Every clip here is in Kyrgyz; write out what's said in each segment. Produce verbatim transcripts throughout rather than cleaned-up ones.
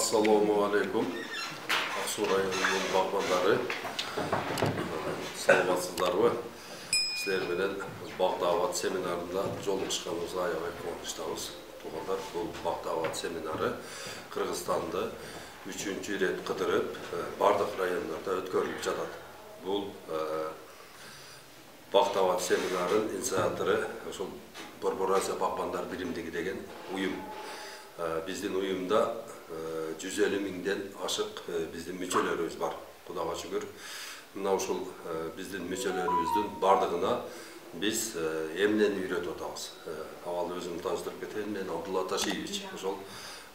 Assalomu alaykum. Aqsu rayonining bag'bonlari. Salamatsizlarmi? Sizlar bilan bog' da'vat seminarida jolug'ishganimizga aябай quvonchirdamiz. Tug'anlar, bu bog' da'vat seminari Qirg'izistonda uchinchi ret qidirib, bardaq rayonlarda o'tkazilib жатат. Bu bog' da'vat seminarının inisiatori ошол Borboraziya Bag'bonlar birimdigi деген uyum. Биздин уюмда жүз элүү миңден ашык биздин мүчөлөрүбүз бар. Кудайга шүгүр. Мына ушул биздин мүчөлөрүбүздүн бардыгына биз эмнени үйрөтүп атабыз. Авал өзүм тааныштырып кетейин. Мен Абдулла Ташиевич, ошол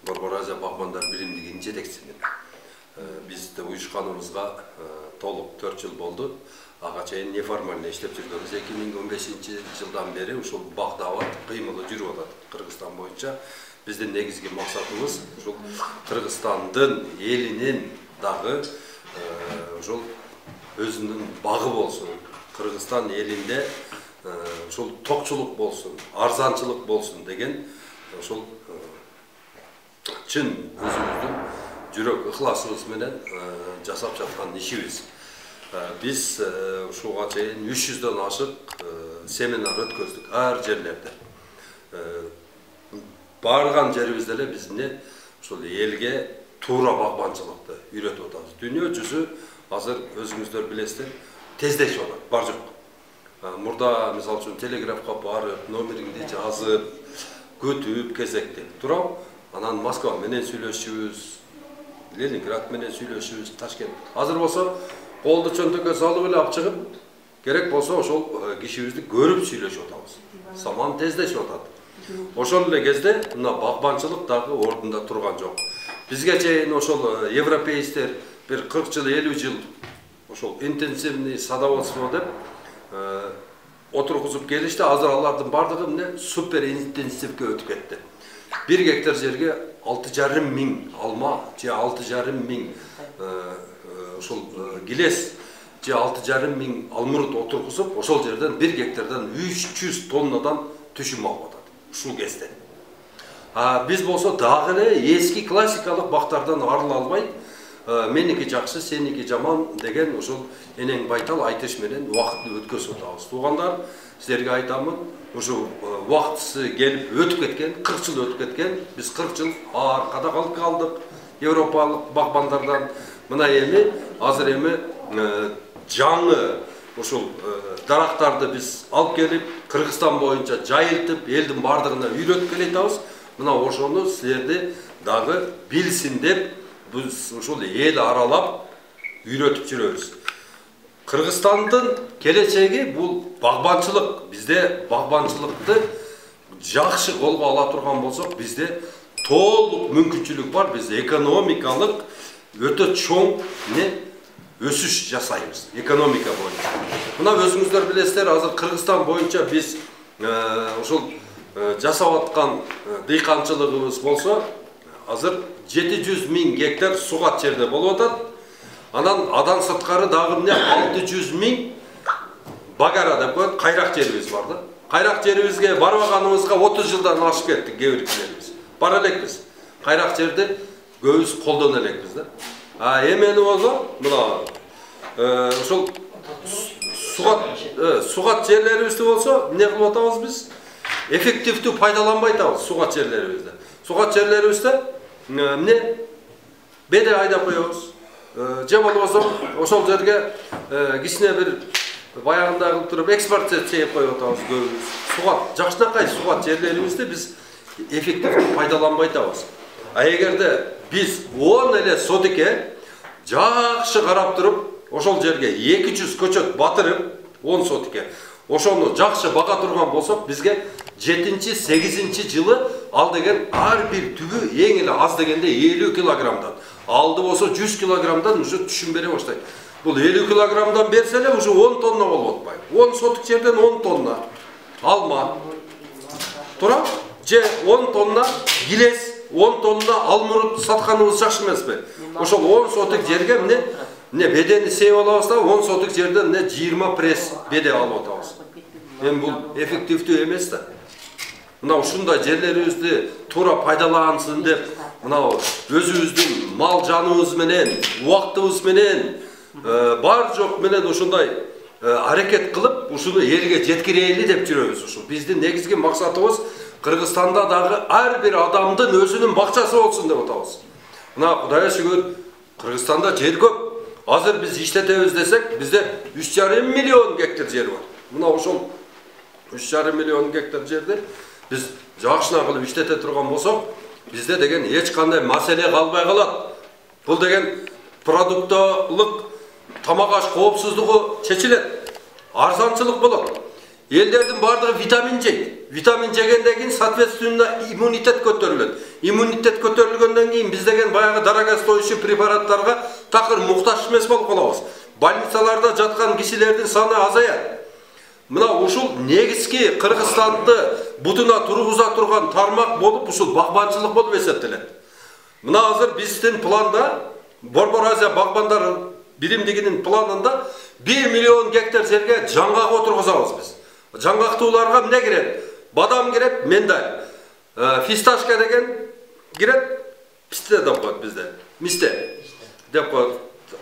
Борборазия Багбандар биримдигинин жетекчисимин. Бизде уюшканыбызга толук төрт жыл болду. Ага чейин неформально иштеп жүргөнбүз. эки миң он бешинчи жылдан бери ушул бак дават кыймылы жүрүп атат Кыргызстан боюнча. Биздин негизги максатыбыз ушул Кыргызстандын элинин дагы ушул өзүнүн багы болсун. Кыргызстан элинде ушул токчулук болсун, арзанчылык болсун деген ушул чын өзүбүздүн жүрөк ыхласыбыз менен жасап жаткан ишибиз. Биз ушуга чейин үч жүздөн ашык семинар өткөздүк ар жерлерде. Барган жерибизде эле бизне ушул элге туура багбанчылыкты үйрөтүп атабыз. Дүйнө жүзү азыр өзүңүздөр билесиздер, тездешип атат, бар жок. Мурда мисалы үчүн телеграфка барып, номериңди жазып, күтүп, кезектеп туруп, анан Москва менен сүйлөшүбүз, Ленинград менен сүйлөшүбүз, Ташкент. Азыр болсо колду чөнтөккө салып эле алып чыгып, керек болсо ошол кишибизди көрүп сүйлөшүп атабыз. Саман тездешип атат. Ошол эле кезде мына багбанчылык дагы ордунда турган жок. Бизге чейин ошол европейцтер бир кырк жыл, элүү жыл ошол интенсивный садоводство деп отургузуп келишти. Азыр алардын бардыгы эмне супер интенсивге өтүп кетти. бир гектар жерге алты жарым миң алма же алты жарым миң ошол гилес же алты жарым миң алмурут отургузуп, ошол жерден бир гектардан үч жүз тоннадан түшүм алып атат. Ушул кезде. А биз болсо дагы эле эски классикалык бактардан арыла албай, меники жакшы, сеники жаман деген ошол энең байтал айтыш менен убакытты өткөзүп атабыз. Туугандар, силерге айтамын, ошо убактысы келип өтүп кеткен, кырк жыл өтүп кеткен. Биз кырк жыл аркада калып калдык европалык багбандардан. Мына эми азыр эми жаңы ушул дарактарды биз алып келип, Кыргызстан боюнча жайылтып, элдин бардыгына үйрөтүп келатабыз. Мына ошону силерди дагы билсин деп биз ушул эл аралап үйрөтүп жүрөбүз. Кыргызстандын келечеги бул багбанчылык. Бизде багбанчылыкты жакшы колго ала турган болсок, бизде толук мүмкүнчүлүк бар. Биз экономикалык өтө чоң не өсүш жасайбыз экономика боюнча. Мына өзүңүздөр билесиздер, азыр Кыргызстан боюнча биз ошол жасап аткан дыйканчылыгыбыз болсо, азыр жети жүз миң гектар сугат жерде болуп атат. Анан адан сырткары дагы эмне алты жүз миң багара деп коет, кайрак жерибиз бар да. Кайрак жерибизге барбаганыбызга отуз жылдан ашып кеттик кээ биркилерибиз. Бара элекпиз. Кайрак жерди көбүбүз колдоно элекпиз да. А эмени болсо, мына ошол сугат сугат жерлерибизди болсо, эмне кылып атабыз биз? Эффективдүү пайдаланбай атабыз сугат жерлерибизди. Сугат жерлерибизде эмне беде айдап коебуз. Же болбосо ошол жерге кичине бир баягында кылып туруп экспорт чейип коюп атабыз көбүбүз. Сугат, жакшынакай сугат жерлерибизди биз эффективдүү пайдаланбай атабыз. А эгерде биз он эле сотике жакшы карап туруп, ошол жерге эки жүз көчөт батырып, он сотике, ошону жакшы бага турган болсок, бизге жетинчи, сегизинчи жылы ал деген ар бир түбү эң эле аз дегенде элүү килограммдан, алды болсо жүз килограммдан уже түшүм бере баштайт. Бул элүү килограммдан берсе эле уже он тонна болуп атпайбы? он сотик жерден он тонна алма тура, же он тонна гилес, он тонна алмурут сатканыбыз жакшы эмеспи? Ошол он сотик жерге эмне эмне бедени сеип алабыз да, он сотик жерден эмне жыйырма пресс беде алып атабыз. Эми бул эффективдүү эмес да. мына ушундай жерлерибизди туура пайдалансын деп, мына өзүбүздүн мал жаныбыз менен, убактыбыз менен, бар жок менен ушундай аракет кылып, ушуну элге жеткирели деп жүрөбүз. Ушу биздин негизги максатыбыз Кыргызстанда дагы ар бир адамдын өзүнүн бакчасы болсун деп атабыз. Мына Кудайга шүгүр, Кыргызстанда жер көп. Азыр биз иштетебиз десек, бизде үч жарым миллион гектар жер бар. Мына ошол үч жарым миллион гектар жерди биз жакшына кылып иштете турган болсок, бизде деген эч кандай маселе калбай калат. Бул деген продуктолук тамак аш коопсуздугу чечилет. Арзанчылык болот. Элдердин бардыгы витамин жейт. Витамин жегенден кийин соответственно иммунитет көтөрүлөт. Иммунитет көтөрүлгөндөн кийин биз деген баягы дорогостоящий препараттарга такыр муктаж эмес болуп калабыз. Больницаларда жаткан кишилердин саны азаят. Мына ушул негизги Кыргызстанды бутуна тургуза турган тармак болуп, ушул багбанчылык болуп эсептелет. Мына азыр биздин планда, Борбор Азия багбандар биримдигинин планында бир миллион гектар жерге жаңгак отургузабыз биз. Жаңгактууларга эмне кирет? Бадам кирет, миндаль. Фисташка деген кирет, писте деп коет бизде. Мисте деп коет,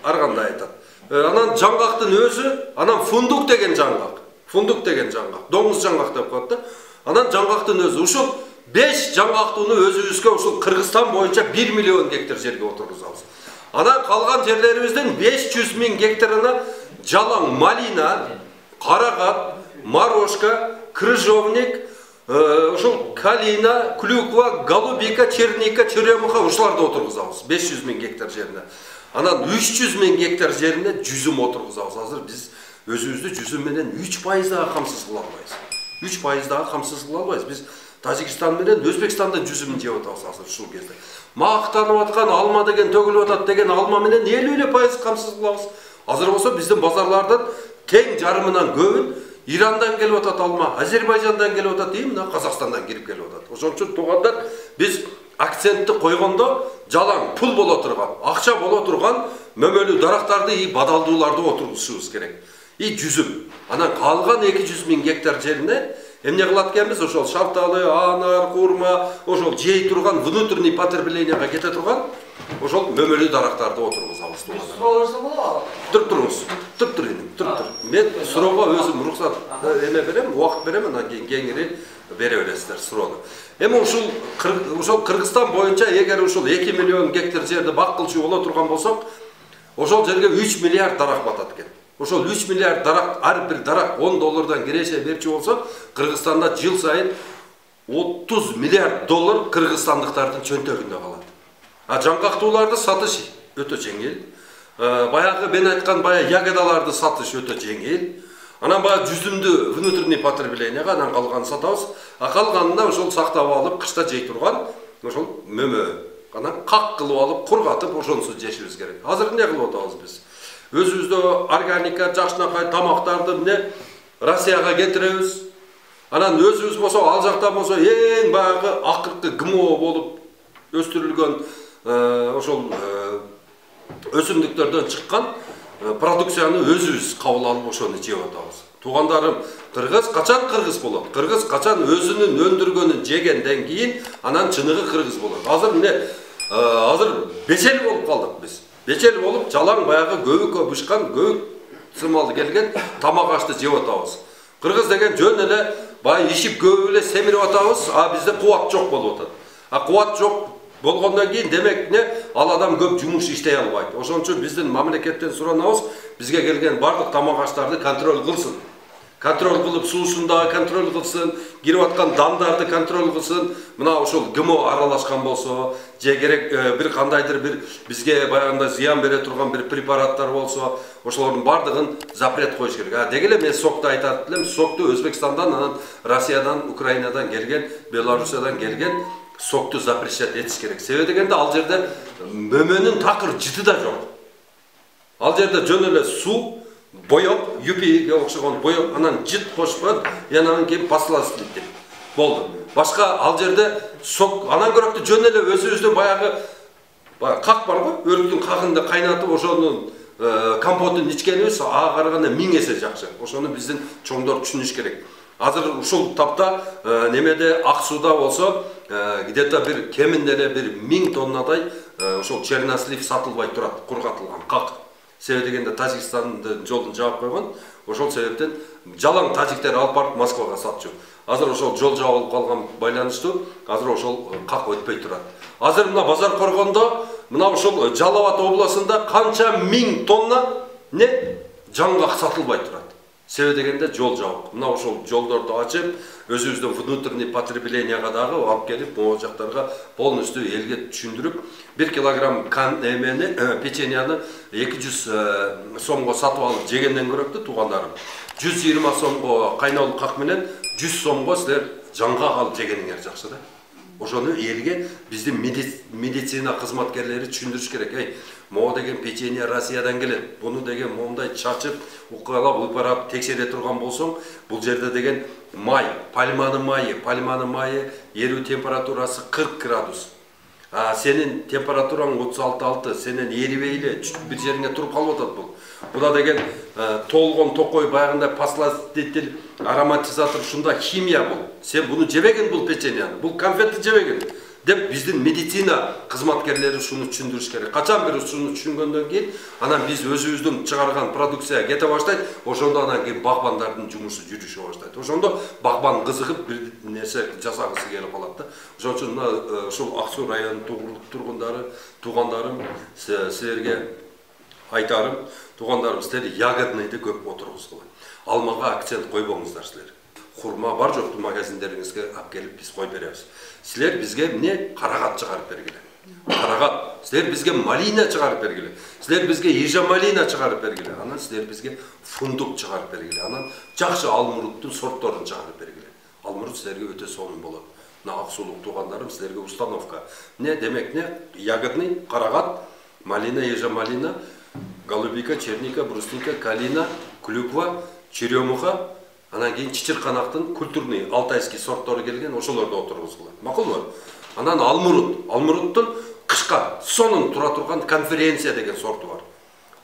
ар кандай айтат. Анан жаңгактын өзү, анан фундук деген жаңгак. Фундук деген жаңгак, доңуз жаңгак деп коет да. Анан жаңгактын өзү ушул беш жаңгактууну өзүбүзгө ушул Кыргызстан боюнча бир миллион гектар жерге отургузабыз. Анан калган жерлерибиздин беш жүз миң гектарына жалаң малина, карагат, морожка, крыжовник, ушул калина, клюква, голубика, черника, черемуха ушуларды отургузабыз беш жүз миң гектар жерине. Анан үч жүз миң гектар жерине жүзүм отургузабыз. Азыр биз өзүбүздү жүзүм менен үч пайыз дагы камсыз кыла албайбыз. үч пайыз дагы камсыз кыла албайбыз. Биз Тажикстан менен Өзбекстандан жүзүмүн жеп атабыз азыр ушул кезде. Мактанып аткан алма деген төгүлүп атат деген алма менен элүү эле пайыз камсыз кылабыз. Азыр болсо биздин базарлардан тең жарымынан көбүн Ирандан келип атат алма, Азербайжандан келип атат, и мына Казакстандан кирип келип атат. Ошон үчүн туугандар, биз акцентти койгондо жалаң пул боло турган, акча боло турган мөмөлүү дарактарды и бадалдууларды отургузушубуз керек. И жүзүм. Анан калган эки жүз миң гектар жерине эмне кылат экенбиз? Ошол шафталы, анар, курма, ошол жей турган внутренний потреблениега кете турган ошол мөмөлүү дарактарды отургузабыз. Туруп туруңуз. Туруп турун, туруп тур. Мен суроого өзүм уруксат эме берем, убакыт берем, анан кийин кеңири бере бересиздер суроону. Эми ушул ошол Кыргызстан боюнча эгер ушул эки миллион гектар жерди бак кылчу боло турган болсок, ошол жерге үч миллиард дарак батат экен. Ошол үч миллиард дарак, ар бир дарак он доллардан киреше берчү болсо, Кыргызстанда жыл сайын отуз миллиард доллар кыргызстандыктардын чөнтөгүндө калат. А жаңгактууларды сатыш өтө жеңил. Баягы мен айткан бая ягодаларды сатыш өтө жеңил. Анан баягы жүзүмдү внутренний потреблениега анан калганын сатабыз. А калганында ошол сактап алып, кышта жей турган ошол мөмө. Анан как кылып алып, кургатып ошонусу жешибиз керек. Азыр эмне кылып атабыз биз? Өзүбүздө органика, жакшынакай тамактарды эмне Россияга кетиребиз. Анан өзүбүз болсо, ал жактан болсо эң баягы акыркы ГМО болуп өстүрүлгөн ошол өсүмдүктөрдөн чыккан продукцияны өзүбүз кабыл алып ошону жеп атабыз. Туугандарым, кыргыз качан кыргыз болот? Кыргыз качан өзүнүн өндүргөнүн жегенден кийин анан чыныгы кыргыз болот. Азыр эмне? Азыр бечел болуп калдык биз. Бечел болуп, жалаң баягы көбүккө бышкан, көбүк сымалы келген тамак ашты жеп атабыз. Кыргыз деген жөн эле бай ишип көп эле семирип атабыз, а бизде кубат жок болуп атат. А кубат жок болгондон кийин демек не ал адам көп жумуш иштей албайт. Ошон үчүн биздин мамлекеттен суранабыз, бизге келген бардык тамак аштарды контроль кылсын. Контроль кылып, суусун дагы контроль кылсын, кирип аткан дандарды контроль кылсын. Мына ошол ГМО аралашкан болсо, же керек бир кандайдыр бир бизге баягында зыян бере турган бир препараттар болсо, ошолордун бардыгын запрет коюш керек. А деги эле мен сокту айтат элем, сокту Өзбекстандан, анан Россиядан, Украинадан келген, Белоруссиядан келген сокту запрещать этиш керек. Себеби дегенде ал жерде мөмөнүн такыр жыты да жок. Ал жерде жөн эле суу, боек, юпиге окшогон боек, анан жыт кошпойт, анан кийин пастиласы деп болду. Башка ал жерде сок, анан көрөктү жөн эле өзүбүздүн баягы как бар го, өрүктүн какында кайнатып ошонун компотун ичкенибиз ага караганда миң эсе жакшы. Ошону биздин чоңдор түшүнүш керек. Азыр ушул тапта немеде Ак сууда болсо где-то бир кеминде эле бир миң тоннадай ошол чернослив сатылбай турат, кургатылган как. Себеби дегенде Тажикстандын жолун жаап койгон. Ошол себептен жалаң тажиктер алып барып Москвага сатчу. Азыр ошол жол жабылып калган байланыштуу, азыр ошол как өтпөй турат. Азыр мына базар коргондо, мына ошол Жалал Абад областында канча миң тонна не жаңгак сатылбай турат. Себеби дегенде жол жабык. Мына ошол жолдорду ачып, өзүбүздүн внутренний потреблениега дагы алып келип, могу жактарга полностью элге түшүндүрүп, бир килограмм кан эмени, печеньяны эки жүз сомго сатып алып жегенден көрөктү туугандарым. жүз жыйырма сомго кайнолук как менен жүз сомго силер жаңгак алып жегениңер жакшы да. Ошону элге биздин медицина кызматкерлери түшүндүрүш керек. Эй, могу деген печенье Россиядан келет. Буну деген мондай чачып, укалап, ыпарап текшере турган болсоң, бул жерде деген май, пальманын майы, пальманын майы эрүү температурасы кырк градус. А сенин температураң отуз алты алты, сенен эрибей эле бир жериңе туруп калып атат бул. Буда деген толгон токой баягындай посластитель, ароматизатор, ушунда химия бул. Сен буну жебеген бул печеньяны, бул конфетти жебеген деп биздин медицина кызматкерлери ушуну түшүндүрүш керек. Качан бир ушуну түшүнгөндөн кийин, анан биз өзүбүздүн чыгарган продукция кете баштайт, ошондо анан кийин багбандардын жумушу жүрүшө баштайт. Ошондо багбан кызыгып бир нерсе жасагысы келип калат да. Ошон үчүн ушул Ак суу районунун тургундары, туугандарым, силерге айтарым, туугандарым, силер ягодныйды көп отургузгула. Алмага акцент койбоңуздар силер. Хурма бар жокту магазиндериңизге алып келип биз кой беребиз. Силер бизге эмне карагат чыгарып бергиле. Карагат. Силер бизге малина чыгарып бергиле. Силер бизге ежа малина чыгарып бергиле. Анан силер бизге фундук чыгарып бергиле. Анан жакшы алмуруттун сортторун чыгарып бергиле. Алмурут силерге өтө сонун болот. Мына Ак суулук туугандарым, силерге установка. Не демек не? Ягодный, карагат, малина, ежа малина, голубика, черника, брусника, калина, клюква, черемуха, анан кийин чычырканактын культурный алтайский сорттору келген, ошолорду отургузгула. Макулбу? Анан алмурут, алмуруттун кышка сонун тура турган конференция деген сорту бар.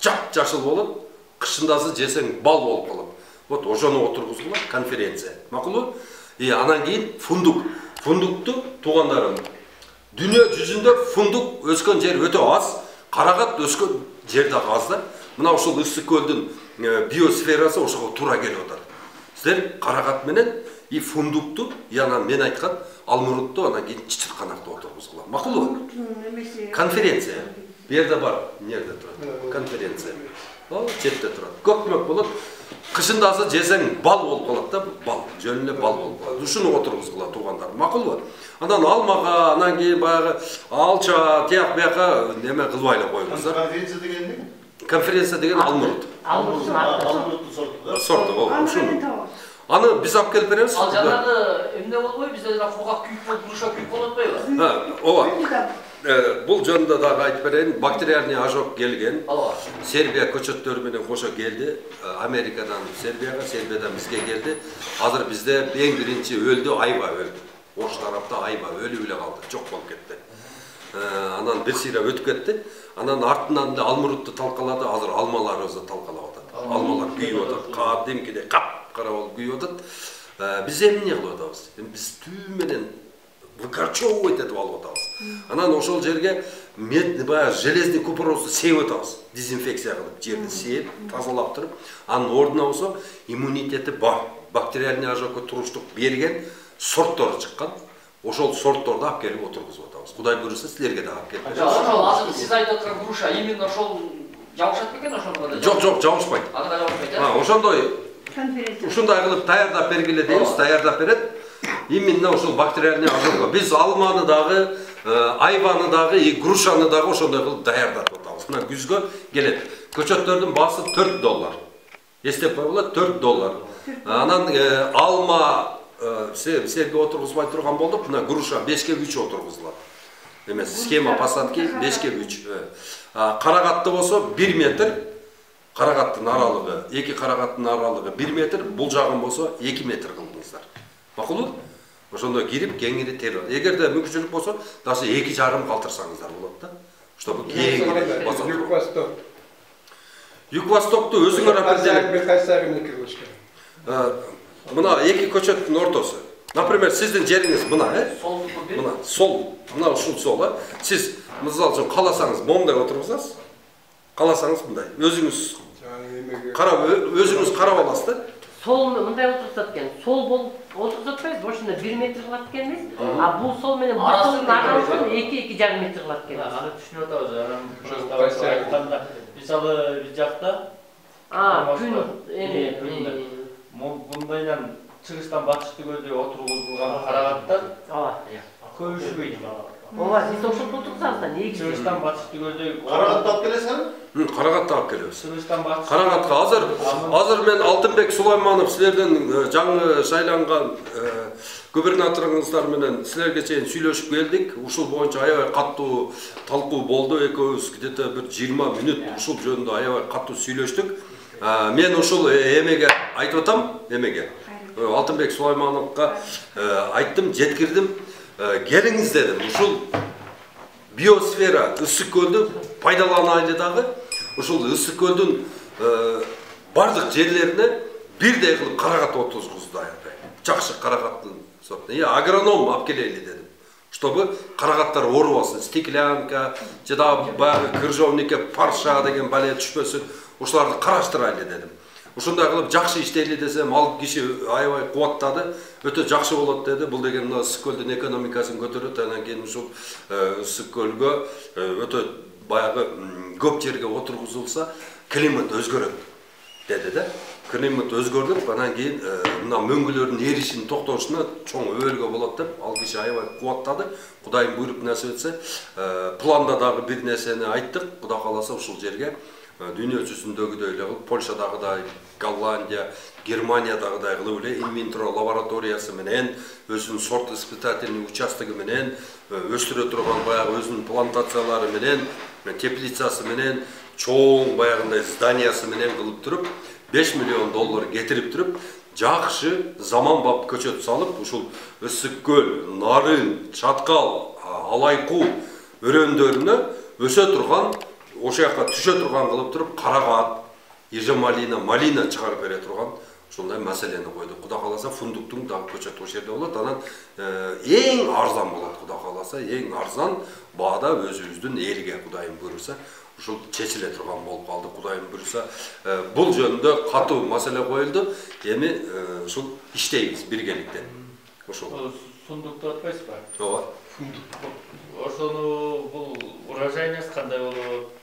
Жап жашыл болот, кышындасы жесең бал болуп калат. Вот ошону отургузгула конференция. Макулбу? И анан кийин фундук. Фундукту туугандарым, дүйнө жүзүндө фундук өскөн жер өтө аз, карагат өскөн жер дагы аз да. Мына ушул Ысык көлдүн биосферасы ошого туура келип атат. Силер карагат менен и фундукту, и анан мен айткан алмурутту, анан кийин чычырканакты отургузгула. Макулбу? Конференция. Бу жерде бар, эмнеде турат? Конференция. Ал четте турат. Көкмөк болот. Кышындасы жесең бал болуп калат да, бал, жөн эле бал болуп калат. Ушуну отургузгула туугандар. Макулбу? Анан алмага, анан кийин баягы алча, тияк бияка неме кылбай эле коюңуздар. Конференция деген эмне? Конференция деген алмурут. Алмуруттун сорту да. Сорту, ооба, ушуну. Аны биз алып келип беребиз. Ал жанагы эмне болбой, бизде жана кургак күйүк болуп, груша күйүк болуп атпайбы? Ha, ооба. Бул жөнүндө дагы айтып берейин. Бактериальный ожог келген. Сербия көчөттөрү менен кошо келди. Америкадан Сербияга, Сербиядан бизге келди. Азыр бизде эң биринчи өлдү, айба өлдү. Ош тарапта айба өлүп эле калды, жок болуп кетти. Анан бир сыйра өтүп кетти. Анан артынан да алмурутту талкалады. Азыр алмаларыбызды талкалап атат. Алмалар күйүп атат. Кадимкидей кап-кара болуп күйүп атат. Биз эмне кылып атабыз? Биз түү менен выкорчевывать этип алып атабыз. Анан ошол жерге мед, баягы железный купоросду сеип атабыз. Дезинфекция кылып, жерди сеип, тазалап туруп, анын ордуна болсо иммунитети бар. Бактериальный ожогко туруштук берген сорттор чыккан. Ошол сортторду алып келип отургузуп атабыз. Кудай буйруса силерге да алып келип беребиз. Ошол азыр сиз айтып аткан груша именно ошол жабышат бекен ошондо да? Жок, жок, жабышпайт. Ага, жабышпайт, э? А, ошондой ушундай кылып даярдап бергиле дейбиз, даярдап берет. Именно ошол бактериальный ожогго биз алманы дагы, айбаны дагы, и грушаны дагы ошондой кылып даярдатып атабыз. Мына күзгө келет. Көчөттөрдүн баасы төрт доллар. Эстеп койгула, төрт доллар. Анан алма силерге отургузбай турган болдук. Мына груша бешке үч отургузулат. Эмес, схема посадки бешке үч. Карагатты болсо бир метр. Карагаттын аралыгы, эки карагаттын аралыгы бир метр, бул жагын болсо эки метр кылдыңыздар. Макулбу? Ошондо кирип кеңири терилет. Эгерде мүмкүнчүлүк болсо, даже эки жарым калтырсаңыздар болот да. Чтобы кеңири басат. Юг-Восток. Юг-Востокту өзүңөр определять. Бир кайсы агымды киргизишкен. Мына эки көчөттүн ортосу. Например, сиздин жериңиз мына, э? Солдуку бир. Мына сол, мына ушул сол, э? Сиз мисалы үчүн кааласаңыз момундай отургузасыз. Кааласаңыз мындай. Өзүңүз карап, өзүңүз карап аласыз да. Сол мындай отурсат экен. Сол болуп отурсат атпайбыз, ошондо бир метр кылат экенбиз. А бул сол менен бул солдун арасын эки эки жарым метр кылат экенбиз. Аны түшүнүп атабыз. Анан айтканда, мисалы бир жакта А, күн эми мындайдан чыгыштан батышты көздөй отургузулган карагаттар ооба. көбүшпөйт. Ооба, сиз ошондо отурсаңыз да негизи. Чыгыштан батышты көздөй Карагатты алып келесиңби? Карагатты алып келебиз. Чыгыштан батышты. Карагатка азыр азыр мен Алтынбек Сулайманов силердин жаңы шайланган губернаторуңуздар менен силерге чейин сүйлөшүп келдик. Ушул боюнча аябай каттуу талкуу болду. Экөөбүз где-то бир жыйырма мүнөт ушул жөнүндө аябай каттуу сүйлөштүк. Мен ушул эмеге айтып атам, эмеге. Алтынбек Сулаймановго айттым, жеткирдим. Келиңиз дедим. Ушул биосфера ысык көлдү пайдаланайлы дагы. Ушул ысык көлдүн бардык жерлерине бирдей кылып карагат отургузду аябай. Жакшы карагаттын сорту. Я агроном алып келели дедим. Чтобы карагаттар оорубасын, стеклянка, жада баягы крыжовнике, парша деген бале түшпөсүн. Ушуларды караштырайлы дедим. Ушундай кылып жакшы иштейли десем, ал киши аябай кубаттады. Өтө жакшы болот деди. Бул деген мына ысык көлдүн экономикасын көтөрөт. Анан кийин ушул ысык көлгө өтө баягы көп жерге отургузулса, климат өзгөрөт деди да. Климат өзгөрүп, анан кийин мына мөңгүлөрдүн эришин токтошуна чоң өбөлгө болот деп ал киши аябай кубаттады. Кудайым буйруп насип этсе, планда дагы бир нерсени айттык. Кудай кааласа ушул жерге дүйнө жүзүндөгүдөй эле кылып, Польшадагыдай, Голландия, Германиядагыдай кылып эле инвентро лабораториясы менен, өзүнүн сорт испытательный участогу менен, өстүрө турган баягы өзүнүн плантациялары менен, теплицасы менен, чоң баягындай зданиясы менен кылып туруп, беш миллион доллар кетирип туруп, жакшы заманбап көчөт салып, ушул ысык көл, нарын, чаткал, алайкуу өрөөндөрүнө өсө турган, ошол жака түшө турган кылып туруп, карагат, ежемалина, малина чыгарып бере турган ушундай маселени койдук. Кудай кааласа фундуктун дагы көчөтү ошол жерде болот. Анан эң арзан болот, кудай кааласа, эң арзан баада өзүбүздүн элге кудайым буйруса ушул чечиле турган болуп калды. Кудайым буйруса, бул жөнүндө катуу маселе коюлду. Эми ушул иштейбиз биргеликте. Ошол. Фундукту атпайсызбы? Ооба. Ошону бул урожайность кандай болот?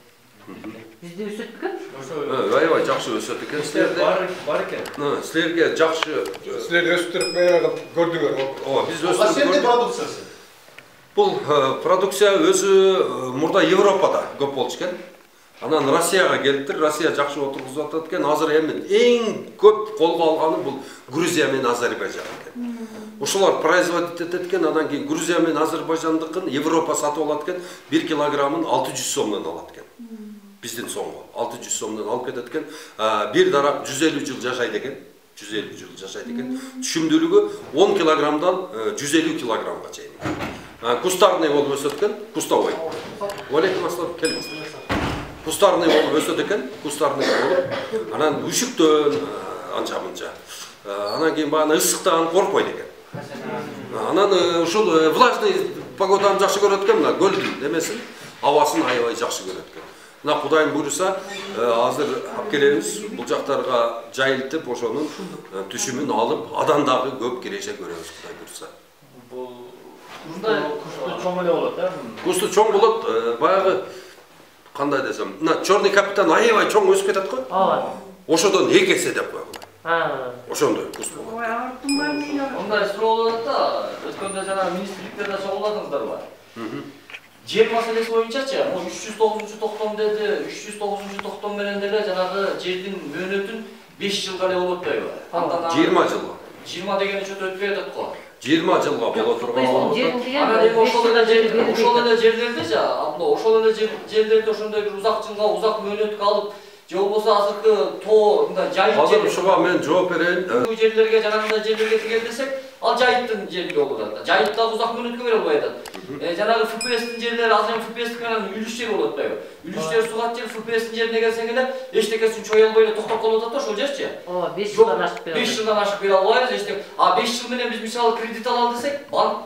Бизде өсөт экен? Ошо аябай жакшы өсөт экен. Силерде бар бар экен. Силерге жакшы силер өстүрүп баягы көрдүңөр. Ооба, биз Кашенде өстүрүп продукциясы? Бул продукция өзү мурда Европада көп болчу экен. Анан Россияга келиптир. Россия жакшы отургузуп атат экен. Азыр эми эң көп колго алганы бул Грузия менен Азербайжан экен. Ушулар производить этет экен. Анан кийин Грузия менен Азербайжандыкын Европа сатып алат экен. бир килограммын алты жүз сомдон алат экен. Биздин сомго алты жүз сомдон алып кетет экен. Бир дарак жүз элүү жыл жашайт экен. жүз элүү жыл жашайт экен. Түшүмдүүлүгү он килограммдан жүз элүү килограммга чейин. Кустарный болуп өсөт экен. Кустовой. Алейкум ассалам, келиңиз. Кустарный болуп өсөт экен. Кустарный болуп. Анан үшүктөн анча мынча. Анан кийин баягы ысыктан коркпойт экен. Анан ушул влажный погоданы жакшы көрөт экен, мына көлдүн эмесин, абасын аябай жакшы көрөт экен. Мына Кудайым буйруса, азыр алып келебиз, бул жактарга жайылтып, ошонун түшүмүн алып, адан дагы көп киреше көрөбүз, Кудай буйруса. Бул кусту чоң эле болот, э? Кусту чоң болот, баягы кандай десем, мына Черный капитан аябай чоң өсүп кетет го. Ооба. Ошодон эки эсе деп койгула. А. Ошондой куст болот. Ондай суроо болот да, өткөндө жана министрликтерде чогулдадыңыздарбы? Жер маселеси боюнчачы, могу үч жүз тогузунчу токтом деди, үч жүз тогузунчу токтом менен деле жанагы жердин мөөнөтүн беш жылга эле болот дейби. жыйырма жылга. жыйырма деген учет өтпөй атат го. жыйырма жылга боло турган болот. Анан эми ошол эле жер, ошол эле жерлерде жа, мына ошол эле жерлерде ошондой бир узак жылга, узак мөөнөткө алып, же болбосо азыркы тоо мындай жайыт Азыр ушуга мен жооп берейин. Бул жерлерге жанагындай жерлерге тигел десек, ал жайыттын жери болуп атат. Жайытта узак мөөнөткө бере албай атат. жанагы эф пи эстин жерлери азыр эф пи эстик менен үлүш жер болот атпайбы? Үлүш жер сугат жер эф пи эстин жерине келсең эле эчтекесин чой албай эле токтоп калып атат да ошол жерчи. Ооба, беш жылдан ашып бере албайбыз. беш жылдан ашып бере албайбыз эчтек. А беш жыл менен биз мисалы кредит алалы десек, банк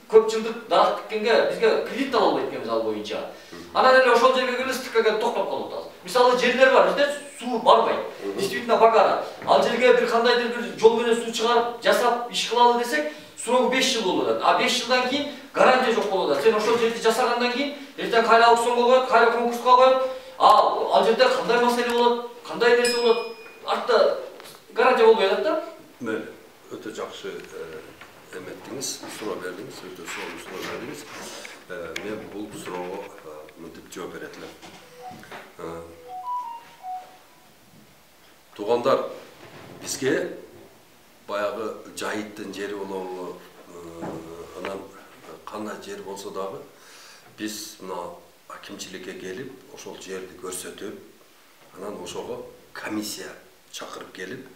көп жылдык дарак тиккенге бизге кредит ала албайт экенбиз ал боюнча. Анан эле ошол жерге келип стыкка токтоп калып атабыз. Мисалы жерлер бар, бизде суу барбайт. Действительно багара. Ал жерге бир кандайдыр бир жол менен суу чыгарып, жасап, иш кылалы десек, срогу беш жыл болуп атат. А беш жылдан кийин гарантия жок болуп атат. Сен ошол жерди жасагандан кийин эртең кайра аукционго коет, кайра конкурска коет. А ал жерде кандай маселе болот, кандай нерсе болот, артта гарантия болбой атат да. Мына өтө жакшы эметтиңиз, суроо бердиңиз, өтө сонун суроо бердиңиз. Мен бул суроого мынтип жооп берет элем. Туугандар, бизге баягы жайыттын жери болобу, анан кандай жер болсо дагы биз мына акимчиликке келип, ошол жерди көрсөтүп, анан ошого комиссия чакырып келип,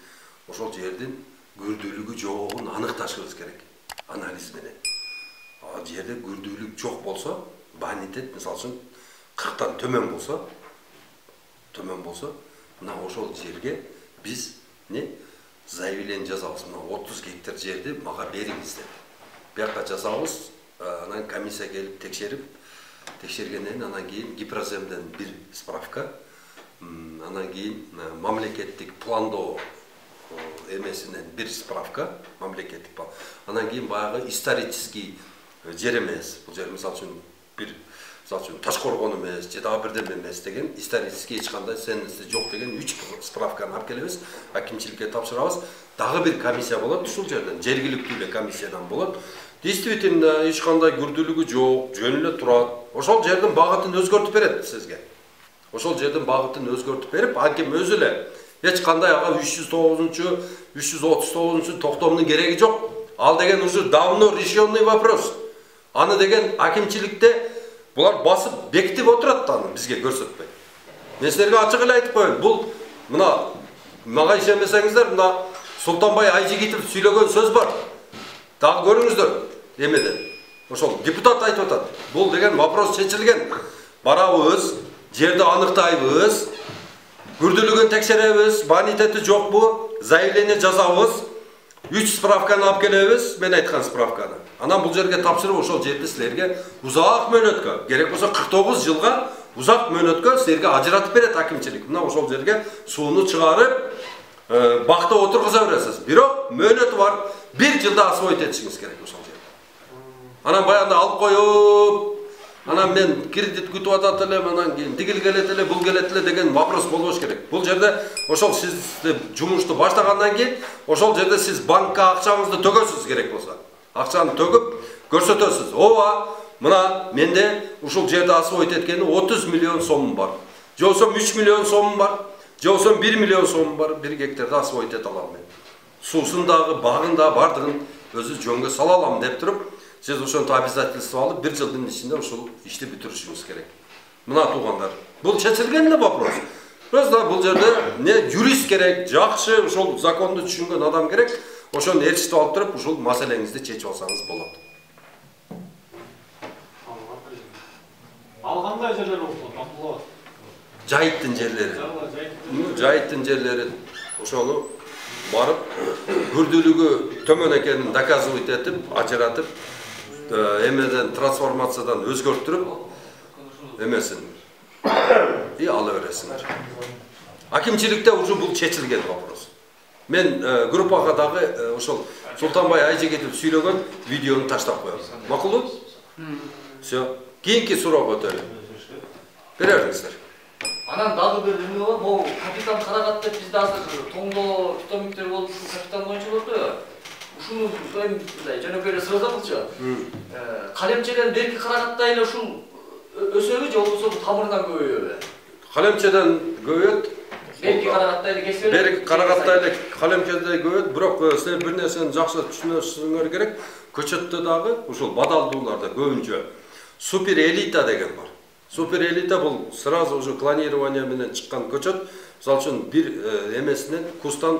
ошол жердин күрдүүлүгү жогун аныкташыбыз керек, анализ менен. А жерде күрдүүлүк жок болсо, бонитет мисалы үчүн кырктан төмөн болсо, төмөн болсо, мына ошол жерге биз не заявление жазабыз. Мына отуз гектар жерди мага бериңиз деп. Бияка жазабыз, анан комиссия келип текшерип, текшергенден кийин анан кийин Гипроземден бир справка, анан кийин мамлекеттик пландоо эмесинен бир справка, мамлекеттик план. Анан кийин баягы исторический жер эмес. Бул жер мисалы үчүн бир мисалы үчүн Ташкоргон эмес, же дагы бирдеме эмес деген исторический эч кандай ценности жок деген үч справканы алып келебиз, акимчиликке тапшырабыз. Дагы бир комиссия болот ушул жерден, жергиликтүү эле комиссиядан болот. Действительно, эч кандай күрдүүлүгү жок, жөн эле турат. Ошол жердин багытын өзгөртүп берет сизге. Ошол жердин багытын өзгөртүп берип, аким өзү эле эч кандай ага үч жүз тогузунчу, үч жүз отуз тогузунчу токтомдун кереги жок. Ал деген уже давно решенный вопрос. Аны деген акимчиликте булар басып бекитип отурат да, аны бизге көрсөтпөй. Мен силерге ачык эле айтып коеюн, бул мына мага ишенбесеңиздер, мына Султанбай Айжигитов сүйлөгөн сөз бар. Дагы көрүңүздөр эмеден. Ошол депутат айтып атат. Бул деген вопрос чечилген. Барабыз, жерди аныктайбыз, күрдүүлүгүн текшеребиз, бонитети жокпу, заявление жазабыз, үч справканы алып келебиз, мен айткан справканы. Анан бул жерге тапшырып, ошол жерди силерге узак мөөнөткө, керек болсо кырк тогуз жылга узак мөөнөткө силерге ажыратып берет акимчилик. Мына ошол жерге сууну чыгарып, бакта отургуза бересиз. Бирок мөөнөтү бар, бир жылда освоить этишиңиз керек ошол жерди. Анан баягында алып коюп, анан мен кредит күтүп атат элем, анан кийин тигил келет эле, бул келет эле деген вопрос болбош керек. Бул жерде ошол сиз жумушту баштагандан кийин ошол жерде сиз банкка акчаңызды төгөсүз керек болсо. Акчаны төгүп көрсөтөсүз. Ооба, мына менде ушул жерде освоить эткени отуз миллион сомум бар. Же болсо үч миллион сомум бар, же болсо бир миллион сомум бар, бир гектарда освоить эте алам мен. Суусун дагы, багын да бардыгын өзү жөнгө сала алам деп туруп, сиз ошонтип обязательство алып, бир жылдын ичинде ушул ишти бүтүрүшүңүз керек. Мына туугандар, бул чечилген эле вопрос. Просто бул жерде не юрист керек, жакшы ошол законду түшүнгөн адам керек. Ошону ээрчитип алып туруп, ушул маселеңизди чечип алсаңыз болот. Ал кандай жерлер болот? Абдулла. Жайыттын жерлери. Жайыттын жерлери ошону барып, күрдүүлүгү төмөн экенин доказывать этип, ажыратып, эмеден трансформациядан өзгөртүрүп, эмесин и ала бересиңер. Акимчиликте уже бул чечилген вопрос. Мен группага дагы ошол Султанбай Айжигитов сүйлөгөн видеону таштап коем. Макулбу? Всё. Кийинки суроого өтөлү. Берерсиңер. Анан дагы бир эме бар, могу капитан Карагат деп бизде азыр тоңдо питомниктер болуп, ушул капитан боюнча болду. Ушуну мындай жөнөкөй эле сурасаңызчы. Калемчеден берки Карагаттай эле ушул өсөбү же болбосо тамырынан көбөйөбү? Калемчеден көбөйөт. Берки Карагаттай эле кесип берет. Берки Карагаттай эле калемчеден көбөйөт, бирок силер бир нерсени жакшы түшүнүшүңөр керек. Көчөттө дагы ушул бадалдууларда көбүнчө супер элита деген бар. Супер элита бул сразу уже клонирование менен чыккан көчөт. Мисалы үчүн бир эмесинен кустан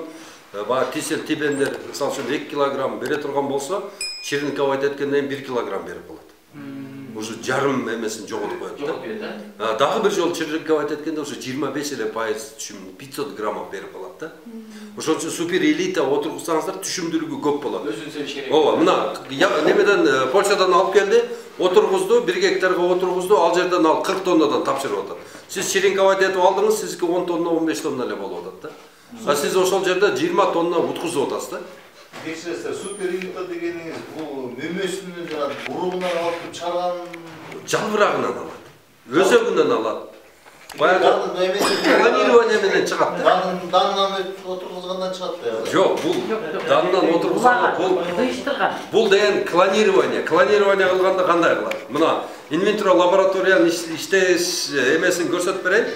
баягы тисел тибендер мисалы үчүн эки килограмм бере турган болсо, черенковать эткенден кийин бир килограмм берип калат. уже жарым эмесин жоготуп коет да. Жоготуп берет, э? Дагы бир жолу черенковать эткенде уже жыйырма беш эле пайыз түшүм пятьсот грамм берип калат да. Ошон үчүн супер элита отургузсаңыздар түшүмдүүлүгү көп болот. Өзүн себиш керек. Ооба, мына немеден Польшадан алып келди, отургузду, бир гектарга отургузду, ал жерден ал кырк тоннадан тапшырып атат. Сиз черенковать этип алдыңыз, сизге он тонна, он беш тонна эле болуп атат да. А сиз ошол жерде жыйырма тонна уткузуп атасыз да. Текшерсе супер элита дегениңиз бул мөмөсүнүн жана уругунан алып чыгарган жалбырагынан алат. Өзөгүнөн алат. Баягы планирование менен чыгат да. Данынан отургузгандан чыгат да. Жок, бул данынан отургузган бул кыйыштырган. Бул деген клонирование. Клонирование кылганда кандай кылат? Мына инвентро лабораториянын иштеш эмесин көрсөтүп берейин.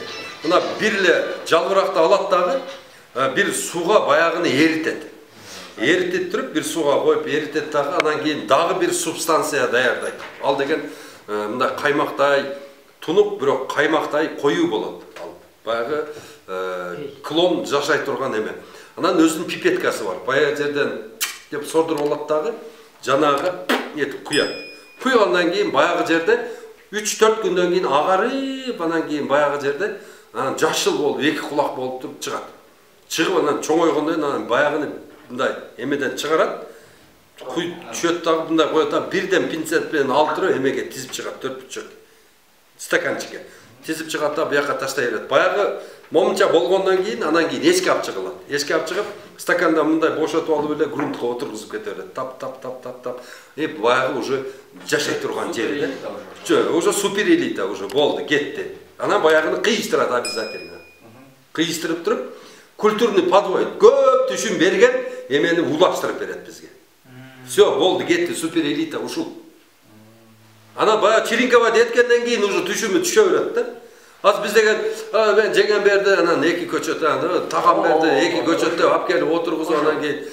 Мына бир эле жалбыракты алат дагы, бир сууга баягыны эритет. Эритип туруп, бир сууга коюп эритет дагы, анан кийин дагы бир субстанция даярдайт. Ал деген мындай каймактай тунук, бирок каймактай коюу болот. Ал баягы клон жашай турган эме. Анан өзүнүн пипеткасы бар. Баягы жерден деп сордуруп алат дагы, жанагы этип куят. Куйгандан кийин баягы жерде үч төрт күндөн кийин агарып, анан кийин баягы жерде анан жашыл болуп, эки кулак болуп туруп чыгат. Чыгып анан чоңойгондон анан баягыны мындай эмеден чыгарат. Куй түшөт дагы мындай коет да, бирден пинцет менен алып туруп эмеге тизип чыгат, төрт бутчак стаканчикке. Тизип чыгат да, буяка таштай берет. Баягы момунча болгондон кийин анан кийин эшикке алып чыгылат. Эшикке алып чыгып, стаканда мындай бошотуп алып эле грунтка отургузуп кете берет. Тап тап тап тап тап. И баягы уже жашай турган жери да. Жо, уже супер элита уже болду, кетти. Анан баягыны кыйыштырат обязательно. Кыйыштырып туруп, культурный подвой көп түшүм берген эмени улаштырып берет бизге. Всё, болду, кетти, супер элита ушул. Ана баягы черенковать эткенден кийин уже түшүмү түшө берет да. Аз биз деген, мен жеңем берди, анан эки көчөт, анан тагам берди, эки көчөттө алып келип отургузуп, анан кийин